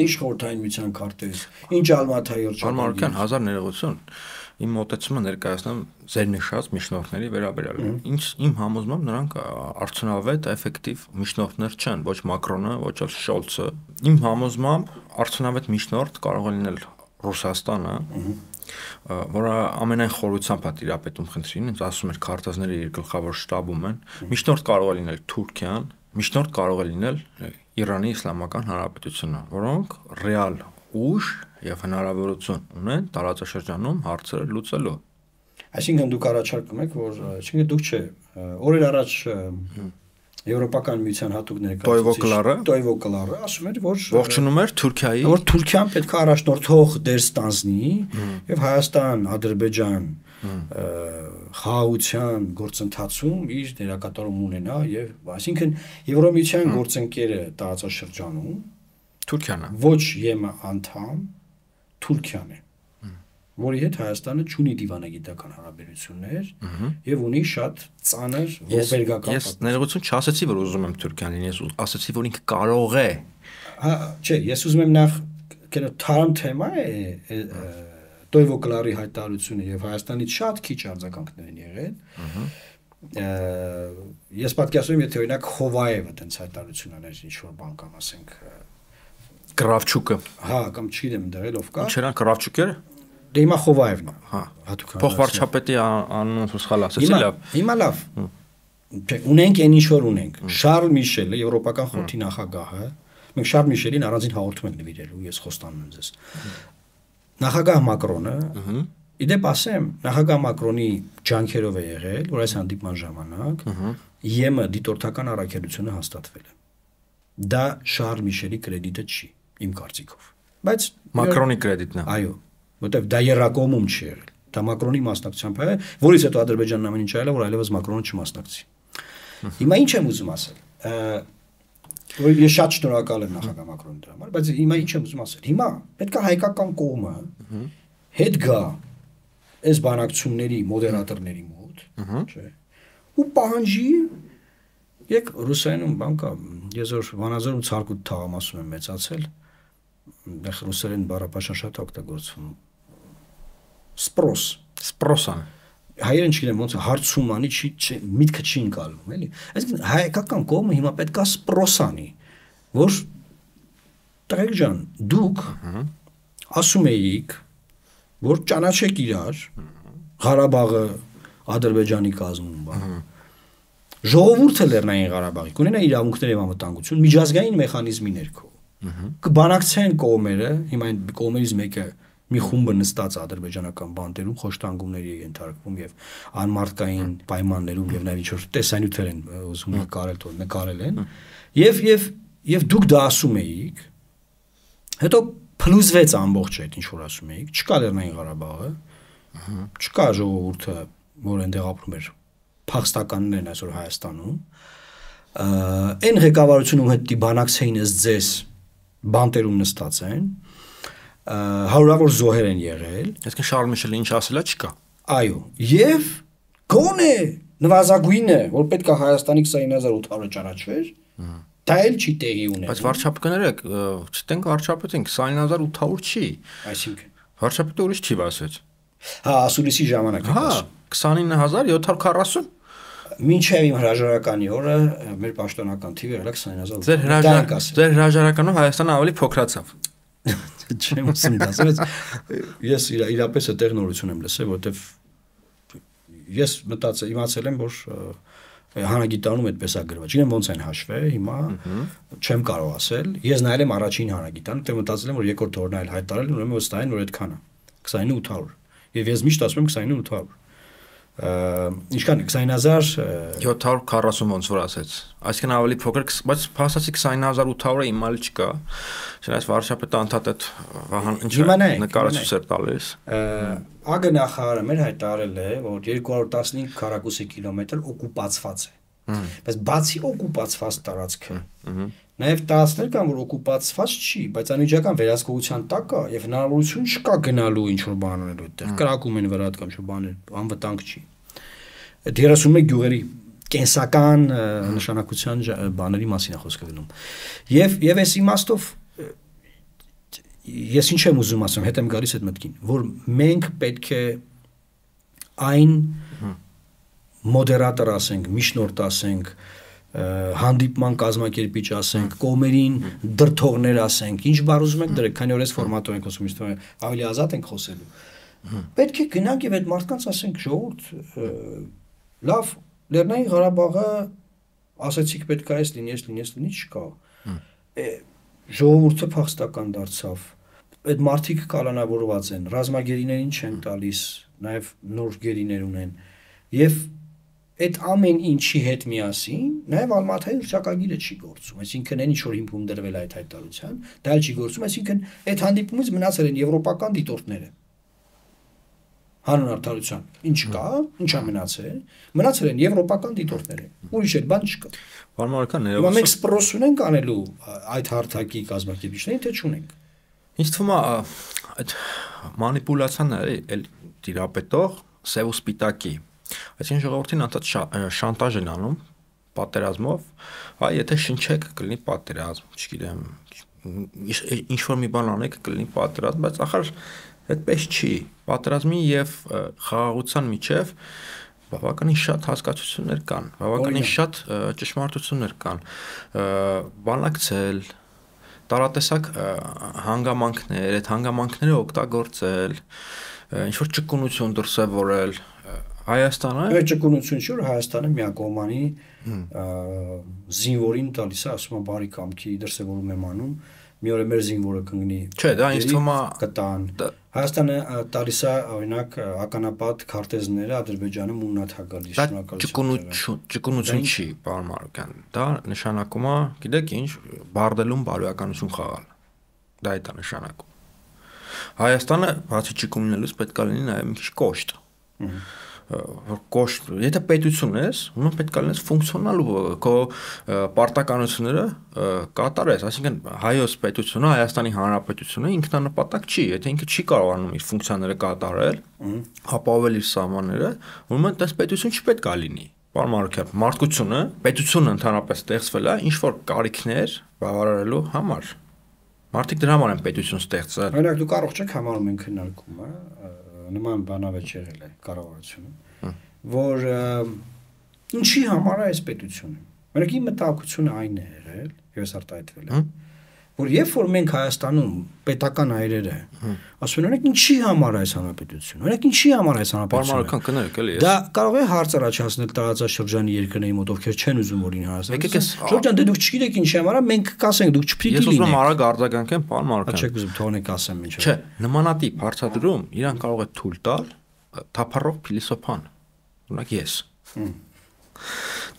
ինչ խորհրդային միության քարտեզ, ինչ Ալմատայի հռչակագիր, հազար ներողություն։ Իմ մոտեցումը ներկայացնեմ ձեր նշած միջնորդների վերաբերյալ։ Ինչ իմ համոզմամբ նրանք արդյունավետ, էֆեկտիվ միջնորդներ չեն, ոչ Մակրոնը, ոչ էլ Շոլցը։ Իմ համոզմամբ արդյունավետ միջնորդ կարող է լինել Ռուսաստանը, որը ամենայն խորությամբ է տիրապետում խնդրին, ինձ ասում էր քարտեզները իր գլխավոր շտաբում են։ Միջնորդ կարող է լինել Թուրքիան, միջնորդ կարող է լինել Իրանի Իսլամական Հանրապետությունը, որոնք ռեալ ուժ եւ հնարավորություն ունեն տարածաշրջանում հարցերը լուծելու։ Այսինքն դուք առաջարկում եք, որ չգիտեմ դուք չէ, օրեր առաջ Եվրոպական միության հատուկ ներկայացուցիչ Տոյվո Կլարը ասում էր, որ ողջունում էր Թուրքիայի, որ Թուրքիան պետք է առաջնորդող դեր ստանձնի եւ Հայաստան, Ադրբեջան խաղաղության գործընթացում իր դերակատարում ունենա եւ այսինքն Եվրոմիության գործընկերը տարածաշրջանում Թուրքիան է։ Ոչ ԵՄ անդամ Թուրքիան է, որի հետ Հայաստանը չունի դիվանագիտական հարաբերություններ եւ ունի շատ ծանր ողբերգական։ Ես ներողություն չասեցի, որ ուզում եմ Թուրքիան լինի, ես ասեցի, որ ինքը կարող է Հա, չէ, ես ուզում եմ նախ կենո թարմ թեմա է Տոյվո Կլարի հայտարարությունը եւ Հայաստանից շատ քիչ արձագանքներ են եղել։ Ես պատկերացնում եմ, եթե օրինակ Խովայևը տենց հայտարարություն աներ ինչ որ բան կամ ասենք Կրավչուկը։ Հա, կամ չգիտեմ դեռ ով կա։ Ինչերան Կրավչուկերը։ Դե հիմա Խովայևն է։ Հա, հատուկ փոխվարչապետի անունը սխալ ասեցի, լավ։ Հիմա լավ։ Ունենք այն ինչ որ ունենք։ Շարլ Միշելը, Եվրոպական խորհրդի նախագահը, մենք Շարլ Միշելին առանձին հաղորդում ենք նվիրելու, ես խոստանում եմ ձեզ։ Նախագահ Մակրոնը, իդեպ ասեմ, նախագահ Մակրոնի ջանքերով է եղել, որ այս հանդիպման ժամանակ ԵՄ դիտորդական առաքելությունը հաստատվել է։ Դա Շարլ Միշելի կրեդիտը չի, իմ կարծիքով։ Բայց Մակրոնի կրեդիտն է։ Այո, որտեվ դա երակոմում չի եղել։ Դա Մակրոնի մասնակցությամբ է, որից հետո Ադրբեջանն ամեն ինչ արել է, որ այլևս Մակրոնը չմասնակցի։ Հիմա ինչ եմ ուզում ասել։ Որ ես շատ շնորհակալ եմ նախագահ Մակրոնի դրա համար, բայց հիմա ինչ եմ ուզում ասել։ Հիմա պետք է հայկական կողմը հետ գա այս բանակցությունների մոդերատորների մոտ, չէ։ Ու պահանջի եկ ռուսերենում բան կա, ես որ Վանաձորում ցարկուտ թաղամասում եմ մեծացել, այնտեղ ռուսերեն բառապաշան շատ օգտագործվում։ Սպրոս, սպրոսան։ Հայերեն չգիտեմ ոնց հարցում անի, չի միտքը չի ընկալում, էլի։ Այսինքն հայկական կողմը հիմա պետք է սպրոսանի, որ տղեկ ջան, դուք ասում էիք, որ ճանաչեք իրար, Ղարաբաղը Ադրբեջանի կազմում բան։ Ժողովուրդը Լեռնային Ղարաբաղի կունենա իրավունքներ եւ անվտանգություն միջազգային մեխանիզմի ներքո։ Կբանակցեն կողմերը, հիմա այն կողմերից մեկը մի խումբը նստած ադրբեջանական բանտերում խոշտանգումների ենթարկվում եւ անմարտկային պայմաններում եւ նաեւ ինչ-որ տեսանյութեր են ուզում նկարել, որ նկարել են եւ եւ եւ դուք դա ասում էիք հետո փլուզվեց ամբողջ այդ ինչ որ ասում էիք չկա Լեռնային Ղարաբաղը չկա ժողովուրդը որ այնտեղ ապրում էր փախստականներն այսօր Հայաստանում այն ղեկավարությունում հետի բանակցեին ըստ ձեզ բանտերում նստած են հարյուրավոր զոհեր են եղել այսինքն Շարլ Միշելը ինչ ասելա չկա այո եւ գոնե նվազագույնը որ պետք է Հայաստանի քսանինը հազար ութ հարյուր ճանաչվեր դա էլ չի տեղի ունենում բայց վարչապետները չտենք վարչապետին քսանինը հազար ութ հարյուր չի այսինքն վարչապետը ուրիշ չի ասեց հա ասուլիսի ժամանակ հա քսանինը հազար յոթ հարյուր քառասուն մինչև իմ հրաժարականի օրը մեր պաշտոնական թիվը եղել է քսանինը հազար ձեր հրաժարական ձեր հրաժարականով Հայաստանը ավելի փոքրացավ չեմ ասում դա ես իրապես այդտեղ նորություն եմ լսել որովհետև ես մտածել իմացել եմ որ հանրագիտարանում այդպես է գրված չգիտեմ ոնց են հաշվել հիմա չեմ կարող ասել ես նայել եմ առաջին հանրագիտարանը դե մտածել եմ որ երկրորդ օրն այլ հայտարարել ուրեմն վստահ են որ այդքան է քսանինը ութ հարյուր եւ ես միշտ ասում եմ քսանինը ութ հարյուր ինչքան քսանինը հազար յոթ հարյուր քառասուն ոնց որ ասեց այսինքն ավելի փոքր բայց փաստացի քսանինը հազար ութ հարյուրը իմալ չկա չէ՞ այս վարչապետը անդադդ Վահան ինչ նկարացույց էր տալիս ԱԳ նախարարը մեր հայտարարել է որ երկու հարյուր տասնհինգ քառակուսի կիլոմետր օկուպացված է բայց բացի օկուպացված տարածքը նաև տարածքներ կան որ օկուպացված չի բայց անմիջական վերահսկողության տակ է եւ հնարավորություն չկա գնալու ինչ որ բան անելու այդտեղ կրակում են վրա կամ ինչ բաներ անվտանգ չի այդ երեսունմեկ գյուղերի կենսական նշանակության բաների մասին է խոսքը գնում եւ եւ այս իմաստով ես ինչ եմ ուզում ասեմ հետ եմ գալիս այդ մտքին որ մենք պետք է այն մոդերատոր ասենք միջնորդ ասենք հանդիպման կազմակերպիչ ասենք կողմերին դրթողներ ասենք ինչ բառ ուզում եք դրեք քանի որ այս ֆորմատով ենք խոսում իստո ավելի ազատ ենք խոսելու պետք է գնանք եւ այդ մարդկանց ասենք ժողովուրդ լավ Լեռնային Ղարաբաղը ասացիք պետք է այս լինի այս լինի այս լինի չկա ժողովուրդը փախստական դարձավ այդ մարդիկ կալանավորված են ռազմագերիներին չեն տալիս նաեւ նոր գերիներ ունեն եւ այդ ամեն ինչի հետ միասին նաև Ալմաթայի հռչակագիրը չի գործում, այսինքն այն ինչ որ հիմքում դրվել է այդ հայտարարության, դա չի գործում, այսինքն այդ հանդիպումից մնացել են եվրոպական դիտորդները։ Հանուն արդարության, ինչ կա, ինչա մնացել, մնացել են եվրոպական դիտորդները, ուրիշ էլ բան չկա։ Վարմարական ներողություն։ Մենք սպրոս ունենք անելու այդ հարթակի կազմակերպիչներին, թե չունենք։ Ինչ թվում է այդ մանիպուլյացիան էլ դիրապետող սև ու սպիտակի այսինքն ժողովրդին անդադ շանտաժ են անում պատերազմով, այ եթե շնչեք կլինի պատերազմ, չգիտեմ, ինչ որ մի բան անեք կլինի պատրաստ, բայց ախր այդպես չի։ Պատրաստի եւ խաղաղության միջև բավականին շատ հասկացություններ կան, բավականին շատ ճշմարտություններ կան։ Բանակցել, տարատեսակ հանգամանքներ, այդ հանգամանքները օգտագործել, ինչ որ ճկունություն դրսևորել, Հայաստանը Այդ ճկունություն չէ, որ Հայաստանը միակողմանի զինվորին տալիս է, ասում է բարի կամքի դրսևորում եմ անում, մի օր մեր զինվորը կընկնի։ Չէ, դա ինձ թվում է կտան։ Հայաստանը տալիս է օրինակ ականապատ քարտեզները Ադրբեջանը մուննաթ է գալիս, շնորհակալություն։ Ճկունություն չի, պարոն Մարուկյան։ Դա նշանակում է, գիտեք ինչ, բարդելում բարոյականություն խաղալ։ Դա է դա նշանակում։ Հայաստանը բացի ճկունինելուց պետք է լինի նաև մի քիչ կոշտ։ Որ կոշտ, եթե պետություն ես, ուրեմն պետք է լինես ֆունկցիոնալ ու քո պարտականությունները կատարես, այսինքն հայոց պետությունը, Հայաստանի Հանրապետությունը ինքնանպատակ չի, եթե ինքը չի կարողանում իր ֆունկցիաները կատարել, ապահովել իր սահմանները, ուրեմն այս պետություն չպետք է լինի։ Պարոն Մարուկյան, մարդկությունը, պետությունը ընդհանրապես ստեղծվել է ինչ որ կարիքներ բավարարելու համար։ Մարդիկ դրա համար են պետություն ստեղծել։ Օրինակ դուք առողջ եք համարում են քննարկումը, նման բանավեճ եղել է կառավարությունը, որ ինչի համար է այս պետությունը։ Օրինակ իմ մտահոգությունը այն է եղել, ես արտահայտվել եմ, որ երբ որ մենք Հայաստանում պետական հայրերը ասում են, օրինակ ինչի համար է այս հանրապետությունը, օրինակ ինչի համար է այս հանրապետությունը։ Պարոն կներեք էլի։ Դա կարող է հարց առաջացնել տարածաշրջանի երկրների մոտ, ովքեր չեն ուզում որ ինհ Հայաստան։ Շրջան դե դուք չգիտեք ինչի համար է, մենք կասենք դուք չպիտի լինեք։ Ես ուզում եմ արագ արձագանքեմ, պարոն Մարուկյան։ Չեք ուզում թողնեք ասեմ ինչ։ Չէ, նմանատիպ հարցադրում իրան կարող է թույլ տալ թափառող փիլիսոփան։ Օրինակ ես։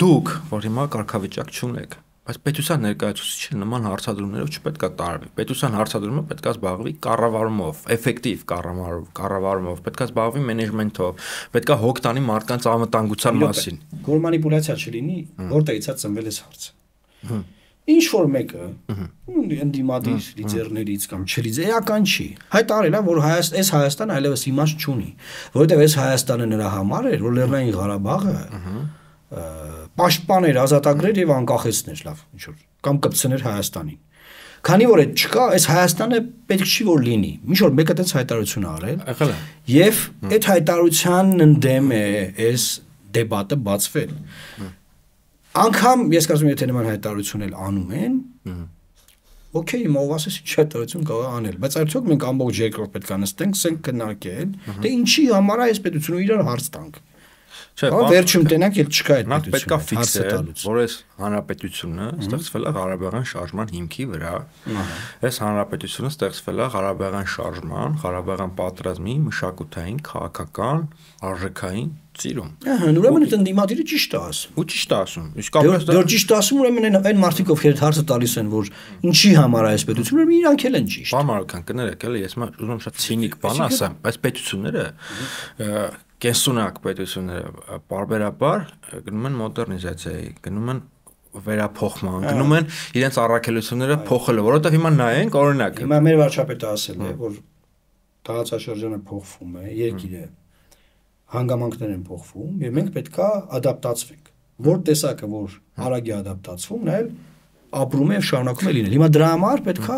Դուք, որ հիմա կարգավիճակ չունեք, բայց պետության ներկայացուցիչը նման հարցադրումներով չպետք է տարվի։ Պետության հարցադրումը պետք է զբաղվի կառավարումով, էֆեկտիվ կառավարումով, պետք է զբաղվի մենեջմենթով, պետք է հոգ տանի մարդկանց անվտանգության մասին։ Որ մանիպուլյացիա չլինի, որտեղից է ծնվել այս հարցը։ Ինչ որ մեկը ընդդիմադիր լիդերներից կամ չլիդերական չի։ Հայտարարել է, որ Հայաստան, այս Հայաստանը այլևս իմաստ չունի, որովհետև այս Հայաստանը նրա համար էր, որ Լեռնային Ղարաբաղը պաշտպաներ, ազատագրեր եւ անկախեցներ, լավ, ինչ որ կամ կպցներ Հայաստանին։ Քանի որ այդ չկա, այս Հայաստանը պետք չի որ լինի։ Ինչ որ մեկը դից հայտարարություն արել։ Եղել է։ Եվ այդ հայտարարությանն ընդդեմ է այս դեբատը բացվել։ Անկամ ես կարծում եմ եթե նման հայտարարություն էլ անում են, օքեյ, ով ասես ինչ հայտարարություն կարող է անել, բայց արդյոք մենք ամբողջ երկրորդ պետք է նստենք, սենք քննարկել, դե ինչի համար է այս պետությունը իրար հարց տանք։ Չէ, վերջում տենանք էլ չկա այդ պետությունը։ Պետք է ֆիքսել, որ այս հանրապետությունը ստեղծվել է Ղարաբաղյան շարժման հիմքի վրա։ Այս հանրապետությունը ստեղծվել է Ղարաբաղյան շարժման, Ղարաբաղյան պատերազմի մշակութային, քաղաքական, արժեքային ծիրում։ Ահա, ուրեմն այդ ընդդիմադիրը ճիշտ է ասում։ Ու ճիշտ է ասում։ Իսկապես դա ճիշտ է ասում, ուրեմն այն մարդիկ ովքեր հարցը տալիս են, որ ինչի համար է այս պետությունը, ուրեմն իրանք էլ են ճիշտ։ Պարոն Մարուկյան, կներեք, էլի ես ուզում եմ շատ ցինիկ բան ասեմ, բայց պետությունները կենսունակ պետությունները պարբերաբար գնում են մոդեռնիզացիայի, գնում են վերափոխման, գնում են իրենց առաքելությունները փոխելու, որովհետև հիմա նայենք օրինակ։ Հիմա մեր վարչապետը ասել է, որ տարածաշրջանը փոխվում է, երկիրը հանգամանքներ են փոխվում եւ մենք պետքա ադապտացվենք։ Որ տեսակը որ արագ է ադապտացվում, նա էլ ապրում է եւ շարունակում է լինել։ Հիմա դրա համար պետքա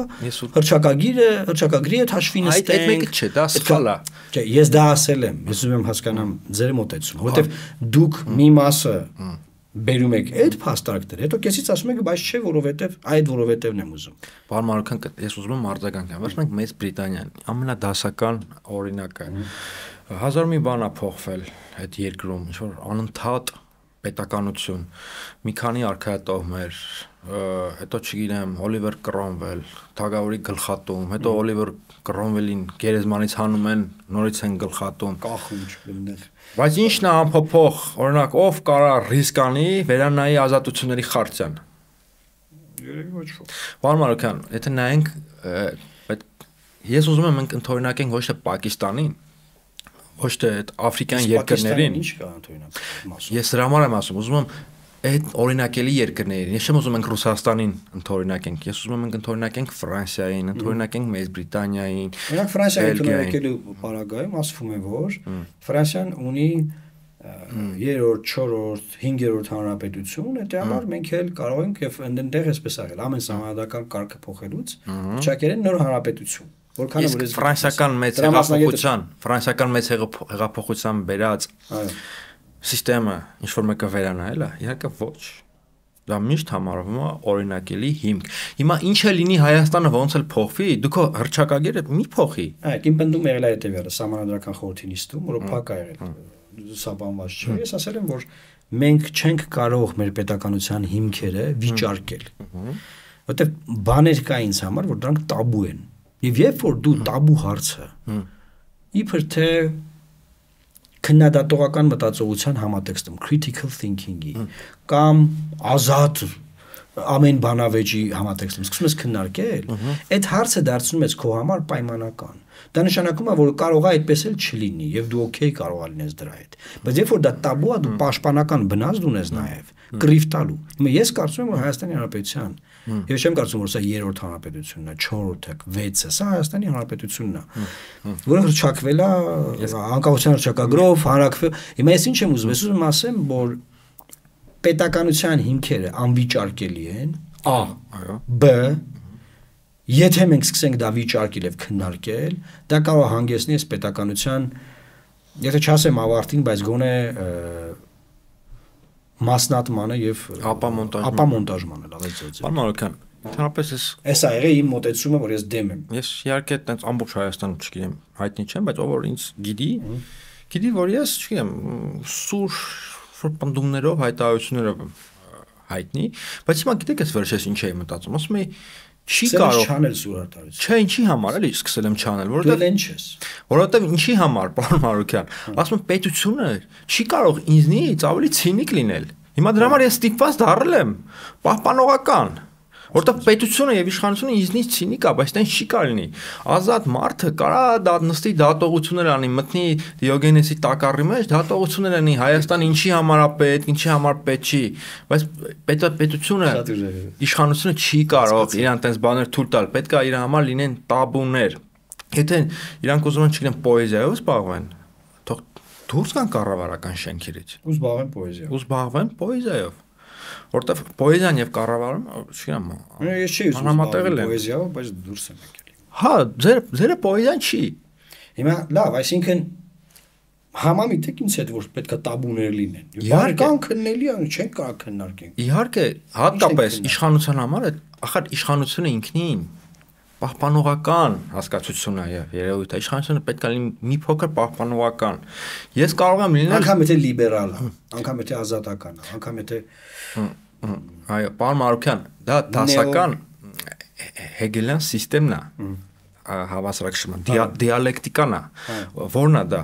հրճակագիրը, հրճակագրի հետ հաշվի նստենք։ Այդ մեկը չէ, դա սխալ է։ Չէ, ես դա ասել եմ, ես ուզում եմ հասկանամ ձեր մոտեցումը, որովհետեւ դուք մի մասը բերում եք այդ փաստարկները, հետո կեսից ասում եք, բայց չէ, որովհետեւ այդ որովհետեւն եմ ուզում։ Պարոն Մարուկյան, ես ուզում եմ արձագանքեմ, վերջնենք Մեծ Բրիտանիան, ամենադասական օրինակը։ Հազար մի բան է փոխվել այդ երկրում, ինչ որ անընդհատ պետականություն, մի քանի արքայատոհներ, հետո չգիտեմ, Օլիվեր Կրոմվել, Թագավորի գլխատում, հետո Օլիվեր Կրոմվելին գերեզմանից հանում են, նորից են գլխատում, կախում չկլիններ։ Բայց ի՞նչն է անփոփոխ, օրինակ, ով կարա ռիսկ անի վերանայի ազատությունների խարտիան։ Երևի ոչ ոք։ Պարոն Մարուկյան, եթե նայենք, ես ուզում եմ մենք ընդօրինակենք ոչ թե Պակիստանին, ոչ թե այդ աֆրիկյան երկրներին։ Ինչ կա ընդօրինակ։ Ես դրա համար եմ ասում, ուզում եմ այդ օրինակելի երկրներին։ Ես չեմ ուզում ենք Ռուսաստանին ընդօրինակենք, ես ուզում եմ ենք ընդօրինակենք Ֆրանսիային, ընդօրինակենք Մեծ Բրիտանիային։ Օրինակ Ֆրանսիայի ընդօրինակելու պարագայում ասվում է, որ Ֆրանսիան ունի երրորդ, չորրորդ, հինգերորդ հանրապետություն, այդ համար մենք էլ կարող ենք եւ այնտեղ էսպես արել, ամեն սահմանադրական կարգը փոխելուց ճակերեն նոր հանրապետություն, որքանը որ ֆրանսիական մեծ հեղափոխության, ֆրանսիական մեծ հեղափոխության բերած սիստեմը ինչ որ մեկը վերանայել է, իհարկե ոչ։ Դա միշտ համարվում է օրինակելի հիմք։ Հիմա ինչ է լինի Հայաստանը ոնց էլ փոխվի, դուք հռչակագիրը մի փոխի։ Այո, իմ պնդում եղել է հետեւյալը, սահմանադրական խորհրդի նիստում, որը փակ է եղել, սաբանված չէ։ Ես ասել եմ, որ մենք չենք կարող մեր պետականության հիմքերը վիճարկել։ Որտեվ բաներ կա ինձ համար, որ դրանք տաբու են։ Եվ երբ որ դու տաբու հարցը իբր թե քննադատողական մտածողության համատեքստում critical thinking-ի կամ ազատ ամեն բանավեճի համատեքստում սկսում ես քննարկել, այդ հարցը դարձնում ես քո համար պայմանական։ Դա նշանակում է, որ կարող է այդպես էլ չլինի եւ դու օքեյ կարող ես լինես դրա հետ։ Բայց երբ որ դա տաբու է, դու պաշտպանական բնազդ ունես նաեւ, կռիվ տալու։ Հիմա ես կարծում եմ, որ Հայաստանի Հանրապետության Ես չեմ կարծում, որ սա երրորդ հանրապետությունն է, չորրորդը, վեցը, սա Հայաստանի Հանրապետությունն է, որը հռչակվել է անկախության հռչակագրով, հանրակրվել։ Հիմա ես ինչ եմ ուզում, ես ուզում եմ ասեմ, որ պետականության հիմքերը անվիճարկելի են, A, B, եթե մենք սկսենք դա վիճարկել եւ քննարկել, դա կարող է հանգեցնի այս պետականության, եթե չասեմ ավարտին, բայց գոնե մասնատմանը եւ ապամոնտաժմանը, լավ է ծծը։ Պարոն Մարուկյան, ընդհանրապես ես Էս է եղել իմ մոտեցումը, որ ես դեմ եմ։ Ես իհարկե այդպես ամբողջ Հայաստանը չգիտեմ, հայտնի չեմ, բայց ով որ ինձ գիտի, գիտի որ ես, չգիտեմ, սուր պնդումներով, հայտարարություններով հայտնի, բայց հիմա գիտեք ես վերջերս ինչ էի մտածում, ասում էի չի կարող չանել սուր հայտարարություն։ Չէ, ինչի համար էլի սկսել եմ չանել, որովհետեւ դու չես։ Որովհետեւ ինչի համար, պարոն Մարուկյան, ասում եմ պետությունը չի կարող ինձնից ավելի ցինիկ լինել։ Հիմա դրա համար ես ստիպված դառել եմ պահպանողական, որովհետեւ պետությունը եւ իշխանությունը ինձնից ցինիկ է, բայց դա չի կարելի։ Ազատ մարդը կարա դա նստի դատողություններ անի, մտնի Դիոգենեսի տակառի մեջ, դատողություններ անի Հայաստանը ինչի համար է պետք, ինչի համար պետք չի, բայց պետա պետությունը իշխանությունը չի կարող իրան տես բաներ թույլ տալ, պետք է իր համար լինեն տաբուներ։ Եթե իրանք ուզում են չգիտեմ պոեզիայով զբաղվեն, թող դուրս գան կառավարական շենքերից։ Ու զբաղվեն պոեզիայով։ Ու զբաղվեն պոեզիայով։ Որտեվ պոեզիան եւ կառավարումը, չգիտեմ, ես չի ուզում պոեզիայով, բայց դուրս եմ եկել։ Հա, ձեր ձերը պոեզիան չի։ Հիմա լավ, այսինքն համամիտ եք ինձ հետ, որ պետք է տաբուներ լինեն։ Իհարկե կան քննելի, չեն կարող քննարկենք։ Իհարկե, հատկապես իշխանության համար, ախր իշխանությունը ինքնին պահպանողական հասկացություն է եւ երևույթ է իշխանությունը պետք է լինի մի փոքր պահպանողական։ Ես կարող եմ լինել անգամ եթե լիբերալ է, անգամ եթե ազատական է, անգամ եթե այո, պարոն Մարուկյան, դա դասական հեգելյան սիստեմն է, հավասարակշռման, դիալեկտիկան է, որն է դա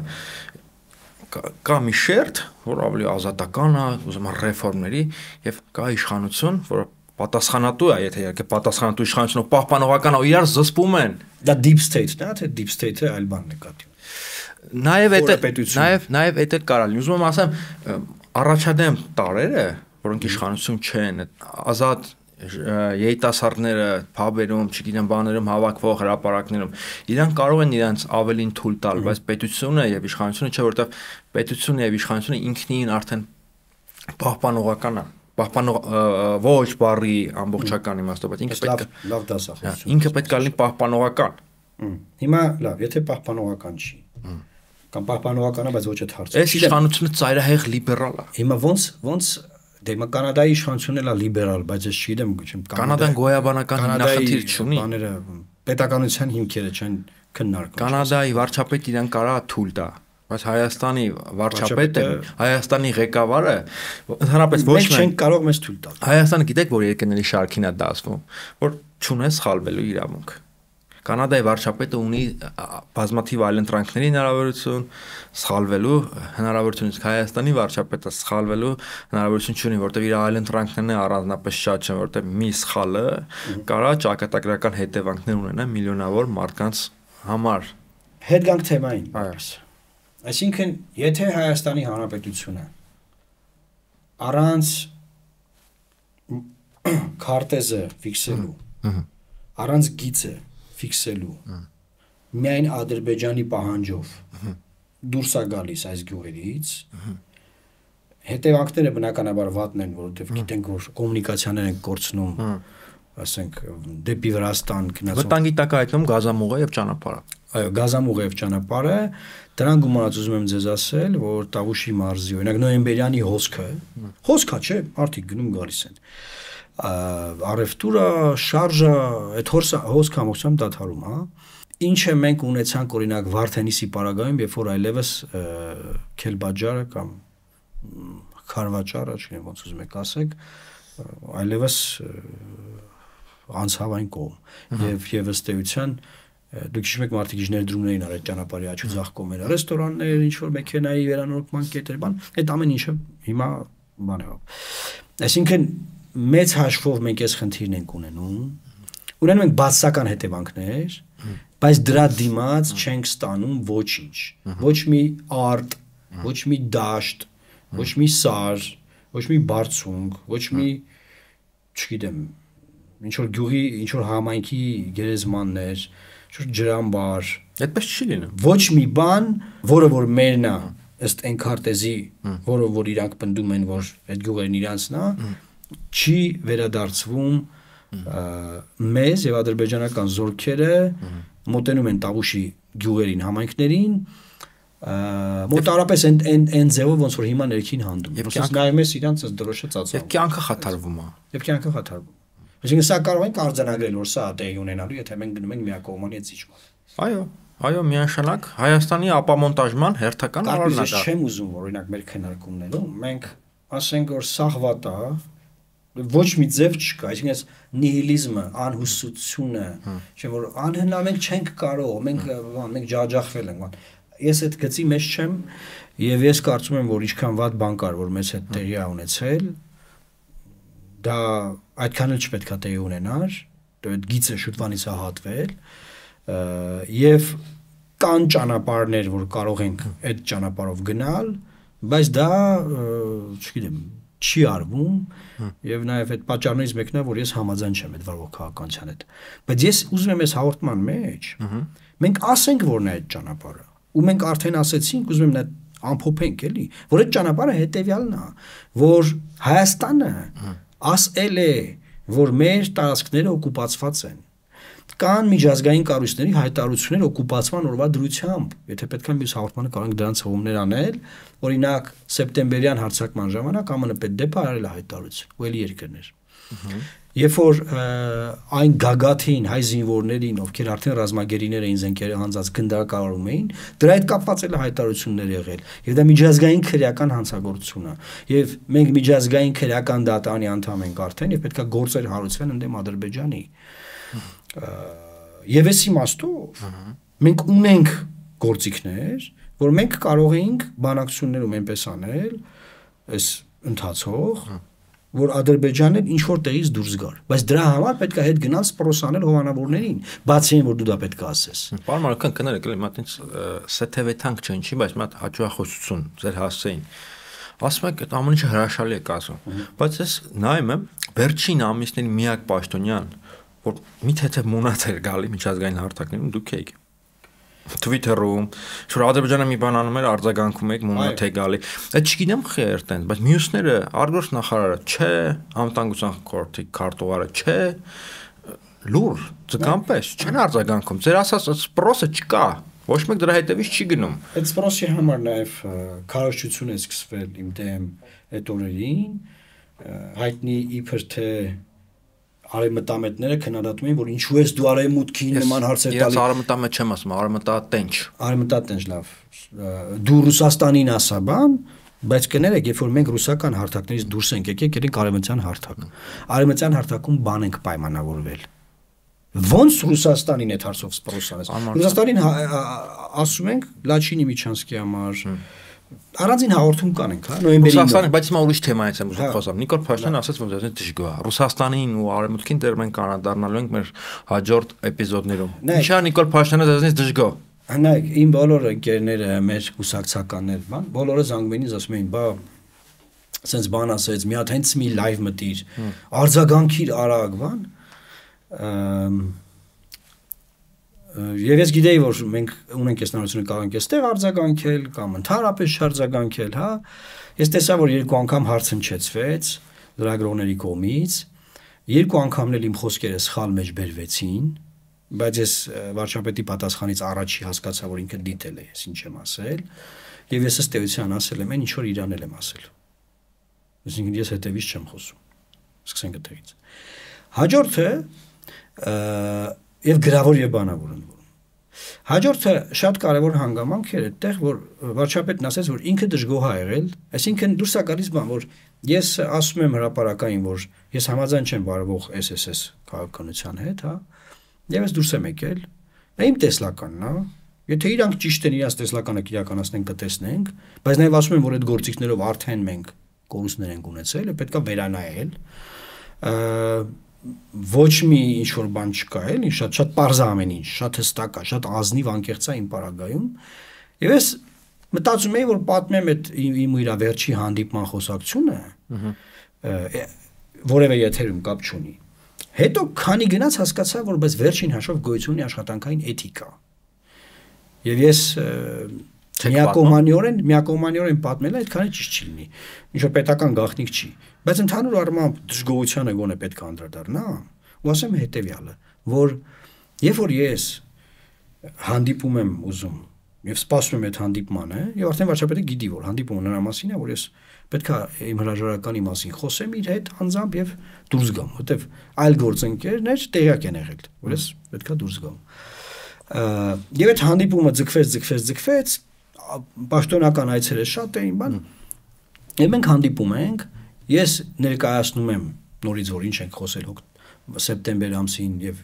կա մի շերտ, որ ավելի ազատական է, ուզում եմ ռեֆորմների եւ կա իշխանություն, որը պատասխանատու է, եթե իհարկե պատասխանատու իշխանությունը պահպանողական ու իրար զսպում են։ Դա deep state-ն է, թե deep state-ը այլ բան նկատի։ Նաև այդ նաև նաև այդ էլ կարա լինի։ Ուզում եմ ասեմ, առաջադեմ տարերը, որոնք իշխանություն չեն, ազատ երիտասարդները փաբերում, չգիտեմ, բաներում հավաքվող հրապարակներում, իրանք կարող են իրենց ավելին թույլ տալ, բայց պետությունը եւ իշխանությունը չէ, որովհետեւ պետությունը եւ իշխանությունը ինքնին արդեն պահպանողական է։ Պահպանող ոչ բարի ամբողջական իմաստով, բայց ինքը պետք է լավ դասախոսություն։ Ինքը պետք է լինի պահպանողական։ Հիմա լավ, եթե պահպանողական չի, կամ պահպանողական է, բայց ոչ այդ հարցը։ Այս իշխանությունը ծայրահեղ լիբերալ է։ Հիմա ոնց ոնց դե մա Կանադայի իշխանությունն էլ է լիբերալ, բայց ես չգիտեմ, չեմ Կանադան գոյաբանական նախնդիր չունի։ Բաները պետականության հիմքերը չեն քննարկում։ Կանադայի վարչապետ իրան կարա թույլ տա, բայց Հայաստանի վարչապետը, Հայաստանի ղեկավարը ընդհանրապես ոչ մենք չենք կարող մեզ թույլ տալ։ Հայաստանը գիտեք, որ երկրների շարքին է դասվում, որ չունես սխալվելու իրավունք։ Կանադայի վարչապետը ունի բազմաթիվ այլընտրանքների հնարավորություն, սխալվելու հնարավորություն, իսկ Հայաստանի վարչապետը սխալվելու հնարավորություն չունի, որտեղ իր այլընտրանքներն առանձնապես շատ չեն, որտեղ մի սխալը կարա ճակատագրական հետևանքներ ունենա միլիոնավոր մարդկանց համար։ Հետ գանք թեմային։ Այսինքն, եթե Հայաստանի Հանրապետությունը առանց քարտեզը ֆիքսելու, առանց գիծը ֆիքսելու, միայն Ադրբեջանի պահանջով դուրս է գալիս այս գյուղերից, հետևանքները բնականաբար վատն են, որովհետև գիտենք, որ կոմունիկացիաներ են կորցնում, ասենք դեպի Վրաստան գնացող։ Վտանգի տակ է հայտնում գազամուղը եւ ճանապարհը։ Այո, գազամուղը եւ ճանապարհը, դրան գումարած ուզում եմ ձեզ ասել, որ Տավուշի մարզի, օրինակ նոյեմբերյանի հոսքը, հոսքա չէ, մարդիկ գնում գալիս են։ Առևտուրը, շարժը, այդ հոսքը ամբողջությամբ դադարում, հա։ Ինչը մենք ունեցանք օրինակ Վարդենիսի պարագայում, երբ որ այլևս Քելբաջարը կամ Խարվաճարը, չգիտեմ ոնց ուզում եք ասեք, այլևս անցավ այն կողմ եւ եւ ըստ էության դուք հիշում եք մարդիկ ներդրումներին արել ճանապարհի աչու ձախ կողմերը, ռեստորաններ, ինչ որ մեքենայի վերանորոգման կետեր, բան, այդ ամեն ինչը հիմա բան է։ Այսինքն մեծ հաշվով մենք այս խնդիրն ենք ունենում, ունենում ենք բացասական հետևանքներ, բայց դրա դիմաց չենք ստանում ոչինչ, ոչ մի արտ, ոչ մի դաշտ, ոչ մի սար, ոչ մի բարձունք, ոչ մի, չգիտեմ, ինչ որ գյուղի, ինչ որ համայնքի գերեզմաններ, ինչ որ ջրամբար, այդպես չի լինում։ Ոչ մի բան, որը որ մերն է, ըստ Էնքարտեզի, որը որ իրանք պնդում են, որ այդ գյուղերն իրանցն է, չի վերադարձվում մեզ եւ ադրբեջանական զորքերը մոտենում են Տավուշի գյուղերին, համայնքներին, մոտարապես այն ձևով ոնց որ հիմա ներքին հանդում։ Ոսից նայում ես իրանց այս դրոշը ծածկում։ Եվ կյանքը խաթարվում է։ Եվ կյանքը խաթարվում։ Այսինքն սա կարող ենք արձանագրել, որ սա տեղի ունենալու, եթե մենք գնում ենք միակողմանի այդ զիջման։ Այո, այո, միանշանակ Հայաստանի ապամոնտաժման հերթական առանցքը։ Ես չեմ ուզում, որ օրինակ մեր քննարկումներում մենք ասենք որ սաղ վատ է, ոչ մի ձև չկա, այսինքն այս նիհիլիզմը, անհուսությունը, չէ՞ որ անհնա մենք չենք կարող, մենք մենք ջաջախվել ենք, բան։ Ես այդ գծի մեջ չեմ եւ ես կարծում եմ, որ ինչքան վատ բան կար, որ մեզ հետ տեղի է ունեցել, դա այդքան էլ չպետք է տեղի ունենար, այդ գիծը շուտվանից է հատվել, եւ կան ճանապարհներ, որ կարող ենք այդ ճանապարհով գնալ, բայց դա, չգիտեմ, չի արվում եւ նաեւ այդ պատճառներից մեկն է, որ ես համաձայն չեմ այդ վարող քաղաքականության հետ։ Բայց ես ուզում եմ այս հաղորդման մեջ մենք ասենք, որ նա այդ ճանապարհը, ու մենք արդեն ասեցինք, ուզում եմ նա ամփոփենք էլի, որ այդ ճանապարհը հետեւյալն է, որ Հայաստանը ասել է, որ մեր տարածքները օկուպացված են։ Կան միջազգային կառույցների հայտարարություններ օկուպացման օրվա դրությամբ, եթե պետք է մյուս հաղորդմանը կարող ենք դրանց հողումներ անել, օրինակ սեպտեմբերյան հարձակման ժամանակ ԱՄՆ պետդեպը արել է հայտարարություն, ու էլի երկրներ։ Երբ որ այն գագաթին հայ զինվորներին, ովքեր արդեն ռազմագերիներ էին զենքերը հանձած գնդակահարում էին, դրա հետ կապված էլ հայտարարություններ եղել, եւ դա միջազգային քրեական հանցագործություն է, եւ մենք միջազգային քրեական դատարանի անդամ ենք արդեն, եւ պետք է գործեր հարուցվեն ընդդեմ Ադրբեջանի։ Եվ այս իմաստով մենք ունենք գործիքներ, որ մենք կարող էինք բանակցություններում այնպես անել, այս ընթացող, որ Ադրբեջանը ինչ որ տեղից դուրս գար, բայց դրա համար պետք է հետ գնալ սպրոսանել հովանավորներին, բացի այն որ դու դա պետք է ասես։ Պարոն Մարական կներեք, էլի մատից սեթևեթանք չեն, չի, բայց մատ հաջողախոսություն ձեր հասցեին։ Ասում եք, այդ ամեն ինչը հրաշալի է ասում, բայց ես նայում եմ վերջին ամիսների միակ պաշտոնյան, որ միթե թե մունած էր գալի միջազգային հարթակներում դուք եք Twitter-ում, շուտ Ադրբեջանը մի բան անում էր, արձագանքում եք, մունատ է գալի։ Այդ չգիտեմ խերտեն, բայց մյուսները արգորս նախարարը, չէ, անվտանգության խորհրդի քարտուղարը, չէ, լուր, ձգամպես, չեն արձագանքում։ Ձեր ասած սպրոսը չկա, ոչ մեկ դրա հետևից չի գնում։ Այդ սպրոսի համար նաև քարոզչություն է սկսվել իմ դեմ այդ օրերին, հայտնի իբր թե արևմտամետները քննադատում են, որ ինչու ես դու արևմուտքի նման հարցեր տալի։ Ես արևմտամետ չեմ ասում, արևմտատենչ։ Արևմտատենչ, լավ։ Դու Ռուսաստանին ասա բան, բայց կներեք, երբ որ մենք ռուսական հարթակներից դուրս ենք եկել, եկեք արևմտյան հարթակ։ Արևմտյան հարթակում բան ենք պայմանավորվել։ Ոնց Ռուսաստանին այդ հարցով սպրոսանես։ Ռուսաստանին ասում ենք Լաչինի Միչանսկի համար առանձին հաղորդում կանենք, հա, նոյեմբերի։ Ռուսաստանը, բայց հիմա ուրիշ թեմայից եմ ուզում խոսամ։ Նիկոլ Փաշինյանը ասաց, որ դեռ դժգոհ է։ Ռուսաստանին ու Արևմուտքին դեռ մենք անդառնալու ենք մեր հաջորդ էպիզոդներում։ Ինչա Նիկոլ Փաշինյանը դեռ դժգոհ։ Հնայք, իմ բոլոր ընկերները, մեր կուսակցականներ, բան, բոլորը զանգում էին, ասում էին, բա սենց բան ասեց, մի հատ հենց մի լայվ մտիր, արձագանքիր արագ, բան։ Եվ ես գիտեի, որ մենք ունենք այս նորությունը կարող ենք այստեղ արձագանքել կամ ընդհանրապես չարձագանքել, հա։ Ես տեսա, որ երկու անգամ հարց հնչեցվեց լրագրողների կողմից, երկու անգամն էլ իմ խոսքերը սխալ մեջ բերվեցին, բայց ես վարչապետի պատասխանից առաջի հասկացա, որ ինքը դիտել է, ես ինչ եմ ասել, եւ ես ըստ էության ասել եմ, այն ինչ որ իրանել եմ ասել։ Այսինքն ես հետևից չեմ խոսում։ Սկսենք այդտեղից։ Հաջորդը եւ գրավոր եւ բանավոր ընկնում։ Հաջորդը շատ կարեւոր հանգամանք էր այդտեղ, որ վարչապետն ասեց, որ ինքը դժգոհ է եղել, այսինքն դուրս է գալիս բան, որ ես ասում եմ հրապարակային, որ ես համաձայն չեմ վարվող S S S քաղաքականության հետ, հա, եւ ես դուրս եմ եկել, դա իմ տեսլականն է, եթե իրանք ճիշտ են, իրաց տեսլականը իրականացնեն, կտեսնենք, բայց նաեւ ասում եմ, որ այդ գործիքներով արդեն մենք կորուստներ ենք ունեցել, պետք է վերանայել, ոչ մի ինչ որ բան չկա, էլի, շատ շատ པարզ է ամեն ինչ, շատ հստակ է, շատ ազնիվ անկեղծ է իմ պարագայում։ Եվ ես մտածում եի, որ պատմեմ այդ իմ իր վերջի հանդիպման խոսակցությունը, որևէ եթերում կապ չունի։ Հետո քանի գնաց հասկացա, որ բայց վերջին հաշվով գոյություն ունի աշխատանքային էթիկա։ Եվ ես միակողմանիորեն, միակողմանիորեն պատմելը այդքան ճիշտ չի լինի։ Ինչ որ պետական գաղտնիք չի, բայց ընդհանուր առմամբ դժգոհությանը գոնե պետք է անդրադառնա, ու ասեմ հետեւյալը, որ երբ որ ես հանդիպում եմ ուզում եւ սպասում եմ այդ հանդիպմանը, եւ արդեն վարչապետը գիտի, որ հանդիպումը նրա մասին է, որ ես պետք է իմ հրաժարականի մասին խոսեմ իր հետ անձամբ եւ դուրս գամ, որտեւ այլ գործընկերներ տեղյակ են եղել, որ ես պետք է դուրս գամ։ Եվ այդ հանդիպումը ձգվեց, ձգվեց, ձգվեց, պաշտոնական այցերը շատ էին, բան։ Եվ մենք հանդիպում ենք, ես ներկայացնում եմ նորից, որ ինչ ենք խոսել սեպտեմբեր ամսին եւ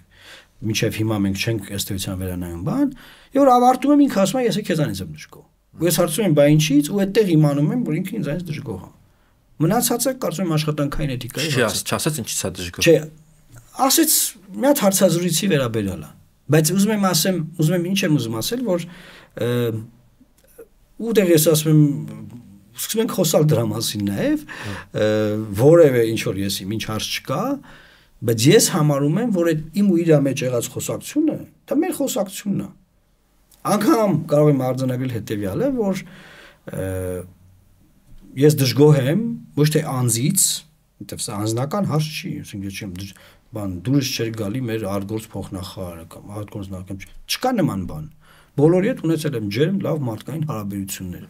մինչեւ հիմա մենք չենք ըստ էության վերանայում բան, եւ որ ավարտում եմ ինքը ասում է, ես քեզանից եմ դժգոհ։ Ու ես հարցում եմ, բա ինչի՞ց, ու այդտեղ իմանում եմ, որ ինքը ինձանից դժգոհ է։ Մնացածը կարծում եմ աշխատանքային էթիկայի հարց է։ Չասեց ինչի՞ց է դժգոհ։ Չէ, ասեց մի հատ հարցազրույցի վերաբերյալ է։ Բայց ուզում եմ ասեմ, ուզում եմ ինչ եմ ուզում ասել, որ ուտեղ ես ասում եմ, սկսում ենք խոսալ դրա մասին նաև, որևէ ինչ որ ես իմ ինչ հարց չկա, բայց ես համարում եմ, որ այդ իմ ու իր մեջ եղած խոսակցությունը, դա մեր խոսակցությունն է։ Անգամ կարող եմ արձանագրել հետևյալը, որ ես դժգոհ եմ ոչ թե անձից, որտեղ սա անձնական հարց չի, ասենք չեմ բան դուրս չէր գալի մեր արտգործ փոխնախարարը կամ արտգործ նախարարը, չկա նման բան։ Բոլորի հետ ունեցել եմ ջերմ լավ մարդկային հարաբերություններ։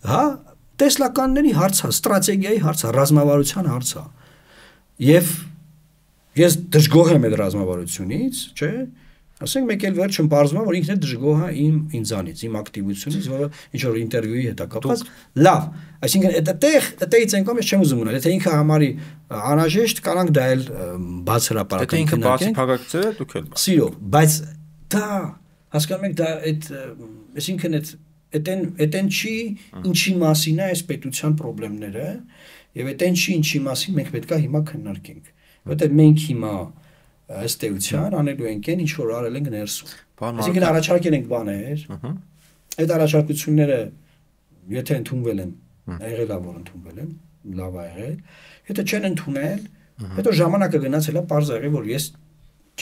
Հա, տեսլականների հարց է, ստրատեգիայի հարց է, ռազմավարության հարց է։ Եվ ես դժգոհ եմ այդ ռազմավարությունից, չէ՞։ Ասենք մեկ էլ վերջում բարձում է, որ ինքն է դժգոհ է իմ ինձանից, իմ ակտիվությունից, որը ինչ որ ինտերվյուի հետ է կապված։ Լավ, այսինքն այդտեղ, այդտեղից ենկом ես չեմ ուզում ունենալ, եթե ինքը համարի անհրաժեշտ, կարանք դա էլ բաց հրապարակել։ Եթե ինքը բացի փակակցել է, դուք էլ։ Սիրով, բայց դա հասկանում եք, դա այդ, այսինքն այդ այդեն այդեն չի ինչի մասին է այս պետության խնդիրները, եւ այդեն չի ինչի մասին մենք պետք է հիմա քննարկենք, որտեղ մենք հիմա ըստ էության անելու ենք այն ինչ որ արել ենք ներսում։ Այսինքն առաջարկել ենք բաներ, այդ առաջարկությունները եթե ընդունվել են, եղել է որ ընդունվել են, լավ է եղել, եթե չեն ընդունել, հետո ժամանակը գնացել է, պարզ եղել որ ես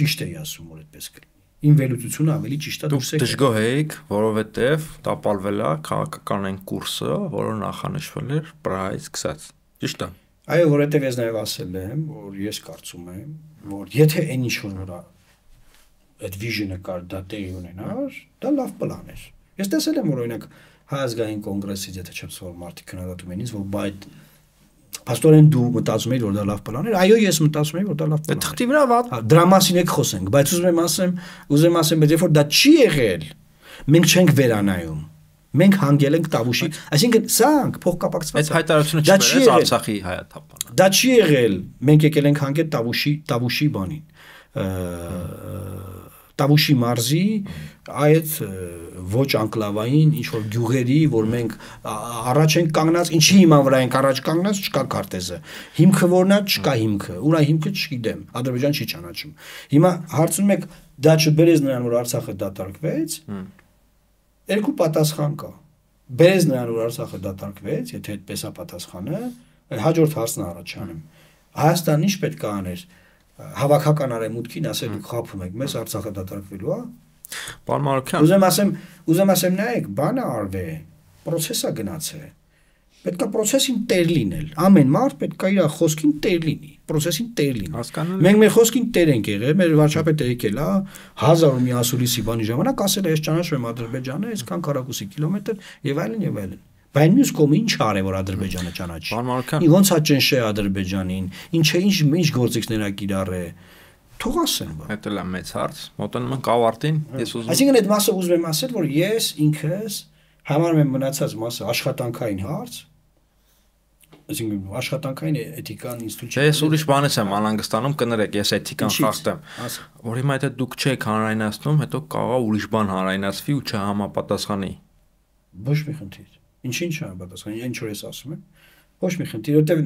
ճիշտ էի ասում, որ այդպես կլինի։ Իմ վերլուծությունը ավելի ճիշտ է դուրս եկել։ Դուք դժգոհ եք, որովհետև տապալվել է քաղաքականային կուրսը, որը նախանշվել էր Պրահայից սկսած։ Ճիշտ է։ Այո, որովհետև ես նաև ասել եմ, որ ես կարծում եմ, որ եթե այն ինչ որ այդ վիժնը կար դա տեղի ունենար, դա լավ պլան էր։ Ես տեսել եմ, որ օրինակ Հայ ազգային կոնգրեսից, եթե չեմ սովոր մարդիկ քննադատում են ինձ, որ բայց Պաստորեն դու մտածում ես որ դա լավ պլան էր, այո ես մտածում եմ որ դա լավ պլան է։ Թղթի վրա վատ։ Դրա մասին եք խոսենք, բայց ուզում եմ ասեմ, ուզում եմ ասեմ, բայց երբ որ դա չի եղել, մենք չենք վերանայում։ Մենք հանգել ենք Տավուշի, այսինքն սրանք փոխկապակցված է։ Այդ հայտարարությունը չբերեց Արցախի հայաթափանը։ Դա չի եղել, մենք եկել ենք հանգել Տավուշի, Տավուշի բանին։ Տավուշի մարզի այդ ոչ անկլավային ինչ որ գյուղերի, որ մենք առաջ ենք կանգնած, ինչի հիման վրա ենք առաջ կանգնած, չկա քարտեզը։ Հիմքը որն է, չկա հիմքը։ Ուրա հիմքը չգիտեմ, Ադրբեջան չի ճանաչում։ Հիմա հարցնում եք, դա չբերեց նրան, որ Արցախը դատարկվեց։ Երկու պատասխան կա։ Բերեց նրան, որ Արցախը դատարկվեց, եթե այդպես է պատասխանը, հաջորդ հարցն առաջանեմ։ Հայաստանն ինչ պետք է աներ։ Հավաքական արեմուտքին ասել դուք խափում եք, մեզ Արցախը դատարկվելու է։ Պարոն Մարուկյան, ուզեմ ասեմ, ուզեմ ասեմ նայեք, բանը արվե, process-ը գնացե։ Պետք է process-ին տեր լինել։ Ամեն մարդ պետք է իր խոսքին տեր լինի, process-ին տեր լինի։ Հասկանալի։ Մենք մեր խոսքին տեր ենք եղել, մեր վարչապետը եկել է հազար ու մի ասուլիսի բանի ժամանակ ասել է ես ճանաչում եմ Ադրբեջանը, այսքան քառակուսի կիլոմետր եւ այլն եւ այլն։ Բայց մյուս կողմը ինչ արե որ Ադրբեջանը ճանաչի։ Պարոն Մարուկյան, Ոնց է ճնշե Ադրբեջանին, ինչ է ինչ ինչ գործիքներ ա կիրառե։ Թող ասեն բա։ դա է մեծ հարց, մոտենում ենք ավարտին, ես ուզում Այսինքն այդ մասը ուզում եմ ասել, որ ես ինքս համարում եմ մնացած մասը աշխատանքային հարց, այսինքն աշխատանքային էթիկան ինստիտուտ։ Չէ, ես ուրիշ բանից եմ անհանգստանում, կներեք, ես էթիկան խախտեմ, որ հիմա եթե դուք չեք հանրայնացնում, հետո կարող է ուրիշ բան հանրայնացվի ու չհամապատասխանի։ Ոչ մի խնդիր։ Ինչին չհամապատասխանի, ինչ որ ես ասում եմ, ոչ մի խնդիր, որտեղ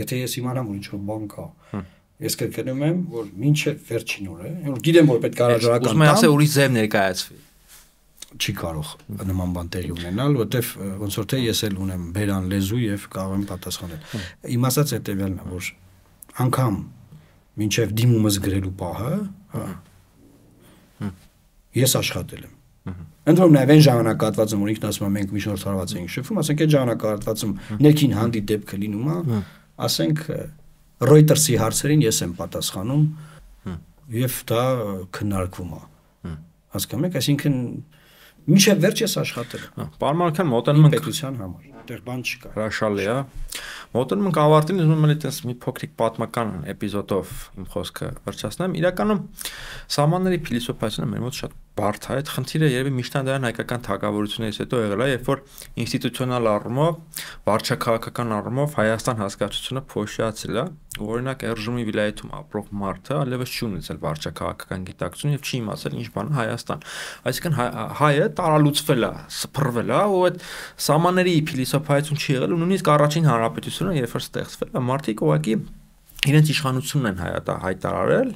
եթե ես իմանամ որ ինչ-որ բան կա, ես կրկնում եմ, որ մինչև վերջին օրը, որ գիտեմ որ պետք է հրաժարական տամ։ Ուզում եմ ասել ուրիշ ձև ներկայացվի։ Չի կարող նման բան տեղի ունենալ, որտեվ ոնց որ թե ես էլ ունեմ բերան լեզու եւ կարող եմ պատասխանել։ Իմ ասած հետեւյալն է, որ անգամ մինչև դիմումս գրելու պահը, հա, ես աշխատել եմ։ Ընդհանրապես նաև այն ժամանակահատվածում, որ ինքն ասում է մենք միջնորդարված ենք շփվում, ասենք այդ ժամանակահատվածում ներքին հանդի դեպքը լինում է, ասենք Reuters-ի հարցերին ես եմ պատասխանում եւ դա քննարկվում է։ Հասկանում եք, այսինքն մինչև վերջ ես աշխատել եմ։ Պարոն Մարուկյան, մոտենում ենք պետության համար, այդտեղ բան չկա։ հրաշալի է։ Մոտենում ենք ավարտին, ուզում եմ այդպես մի փոքրիկ պատմական էպիզոդով իմ խոսքը վերջացնեմ։ Իրականում սահմանների փիլիսոփայությունը մեր մոտ շատ բարդ է, այդ խնդիրը երևի միջնադարյան հայկական թագավորություններից հետո եղել է, երբ որ ինստիտուցիոնալ առումով, վարչաքաղաքական առումով Հայաստան հասկացությունը փոշիացել է, օրինակ Էրժումի վիլայեթում ապրող մարդը այլևս չի ունեցել վարչաքաղաքական գիտակցություն եւ չի իմացել ինչ բան է Հայաստան։ Այսինքն հայը տարալուծվել է, սփռվել է, ու այդ սահմանների փիլիսոփայություն չի եղել, ու նույնիսկ առաջին հանրապետությունը, երբ որ ստեղծվել է, մարդիկ ուղղակի իրենց իշխանությունն են հայտա հայտարարել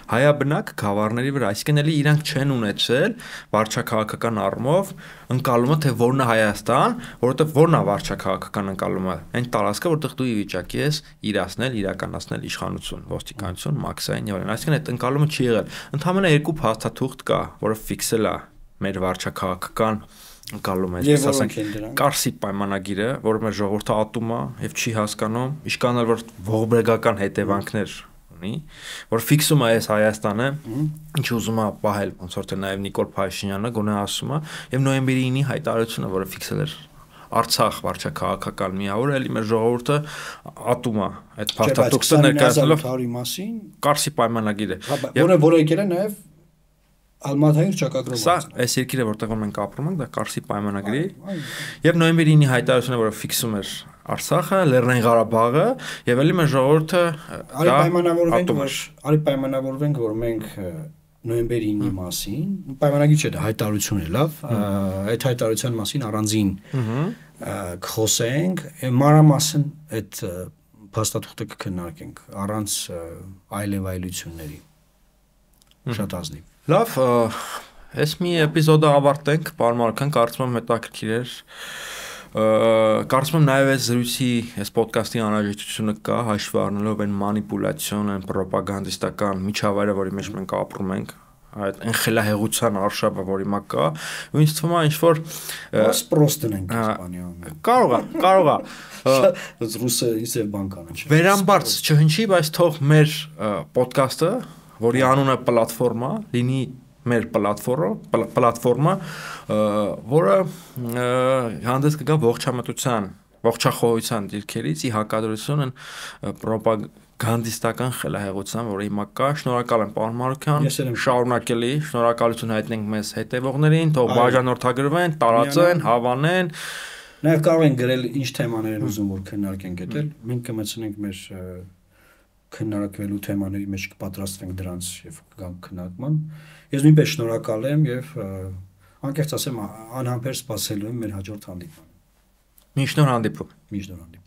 հայաբնակ գավառների վրա, այսինքն էլի իրանք չեն ունեցել վարչաքաղաքական առումով ընկալումը, թե որն է Հայաստան, որովհետև որն է վարչաքաղաքական ընկալումը, այն տարածքը, որտեղ դու ի վիճակի ես իրացնել, իրականացնել իշխանություն, ոստիկանություն, մաքսային եւ այլն, այսինքն այդ ընկալումը չի եղել։ Ընդհանրապես երկու փաստաթուղթ կա, որը ֆիքսել է մեր վարչաքաղաքական ընկալում է, այսպես ասենք, Կարսի պայմանագիրը, որը մեր ժողովուրդը ատում է եւ չի հասկանում, իշքան էլ որ ողբերգական հետևանքներ ունի, որ ֆիքսում է այս Հայաստանը, ինչ ուզում է պահել, ոնց որ թե նաեւ Նիկոլ Փաշինյանը գոնե ասում է, եւ նոյեմբերի ինի հայտարարությունը, որը ֆիքսել էր Արցախ վարչաքաղաքական միավորը, էլի մեր ժողովուրդը ատում է այդ փաստաթուղթը ներկայացնելով մասին Կարսի պայմանագիրը, որը որը եկել է նաեւ Ալմատայր ճակագրով։ Սա այս երկիրը որտեղ մենք ապրում ենք, դա Կարսի պայմանագրի եւ նոյեմբերի ինի հայտարարությունը, որը ֆիքսում էր Արցախը, Լեռնային Ղարաբաղը եւ էլի մեր ժողովուրդը արի պայմանավորվենք, որ արի պայմանավորվենք, որ մենք նոյեմբերի ինի մասին, պայմանագիր չէ, դա հայտարարություն է, լավ, այդ հայտարարության մասին առանձին կխոսենք, մանրամասն այդ փաստաթուղթը կքննարկենք առանց այլևայլությունների։ Շատ ազնիվ։ Լավ, այս մի էպիզոդը ավարտենք, պարոն Մարուկյան, կարծում եմ հետաքրքիր էր։ Կարծում եմ նաև այս զրույցի, այս ոդկասթի անհրաժեշտությունը կա, հաշվի առնելով այն մանիպուլյացիոն, այն պրոպագանդիստական միջավայրը, որի մեջ մենք ապրում ենք, այդ ընխելահեղության արշավը, որ հիմա կա, ու ինձ թվում է ինչ որ պրոստն ենք իսպանիայում։ Կարող է, կարող է։ Ռուսը իսև բանկանը չէ։ Վերամբարձ չհնչի, բայց թող մեր ոդկասթը, որի անունը պլատֆորմա, լինի մեր պլատֆորմը, պլատֆորմը, որը հանդես կգա ողջամտության, ողջախոհության դիրքերից ի հակադրություն են պրոպագանդիստական խելահեղության, որը հիմա կա։ Շնորհակալ եմ, պարոն Մարուկյան, շարունակելի, շնորհակալություն հայտնենք մեզ հետևողներին, թող բաժանորդագրվեն, տարածեն, հավանեն։ Նաև կարող են գրել ինչ թեմաներ են ուզում որ քննարկենք այդել, մենք կմտցնենք մեր քննարկվելու թեմաների մեջ կպատրաստվենք դրանց եւ կգանք քննարկման։ Ես նույնպես շնորհակալ եմ եւ անկեղծ ասեմ անհամբեր սպասելու եմ մեր հաջորդ հանդիպմանը։ Միշտ նոր հանդիպում։ Միշտ նոր հանդիպում։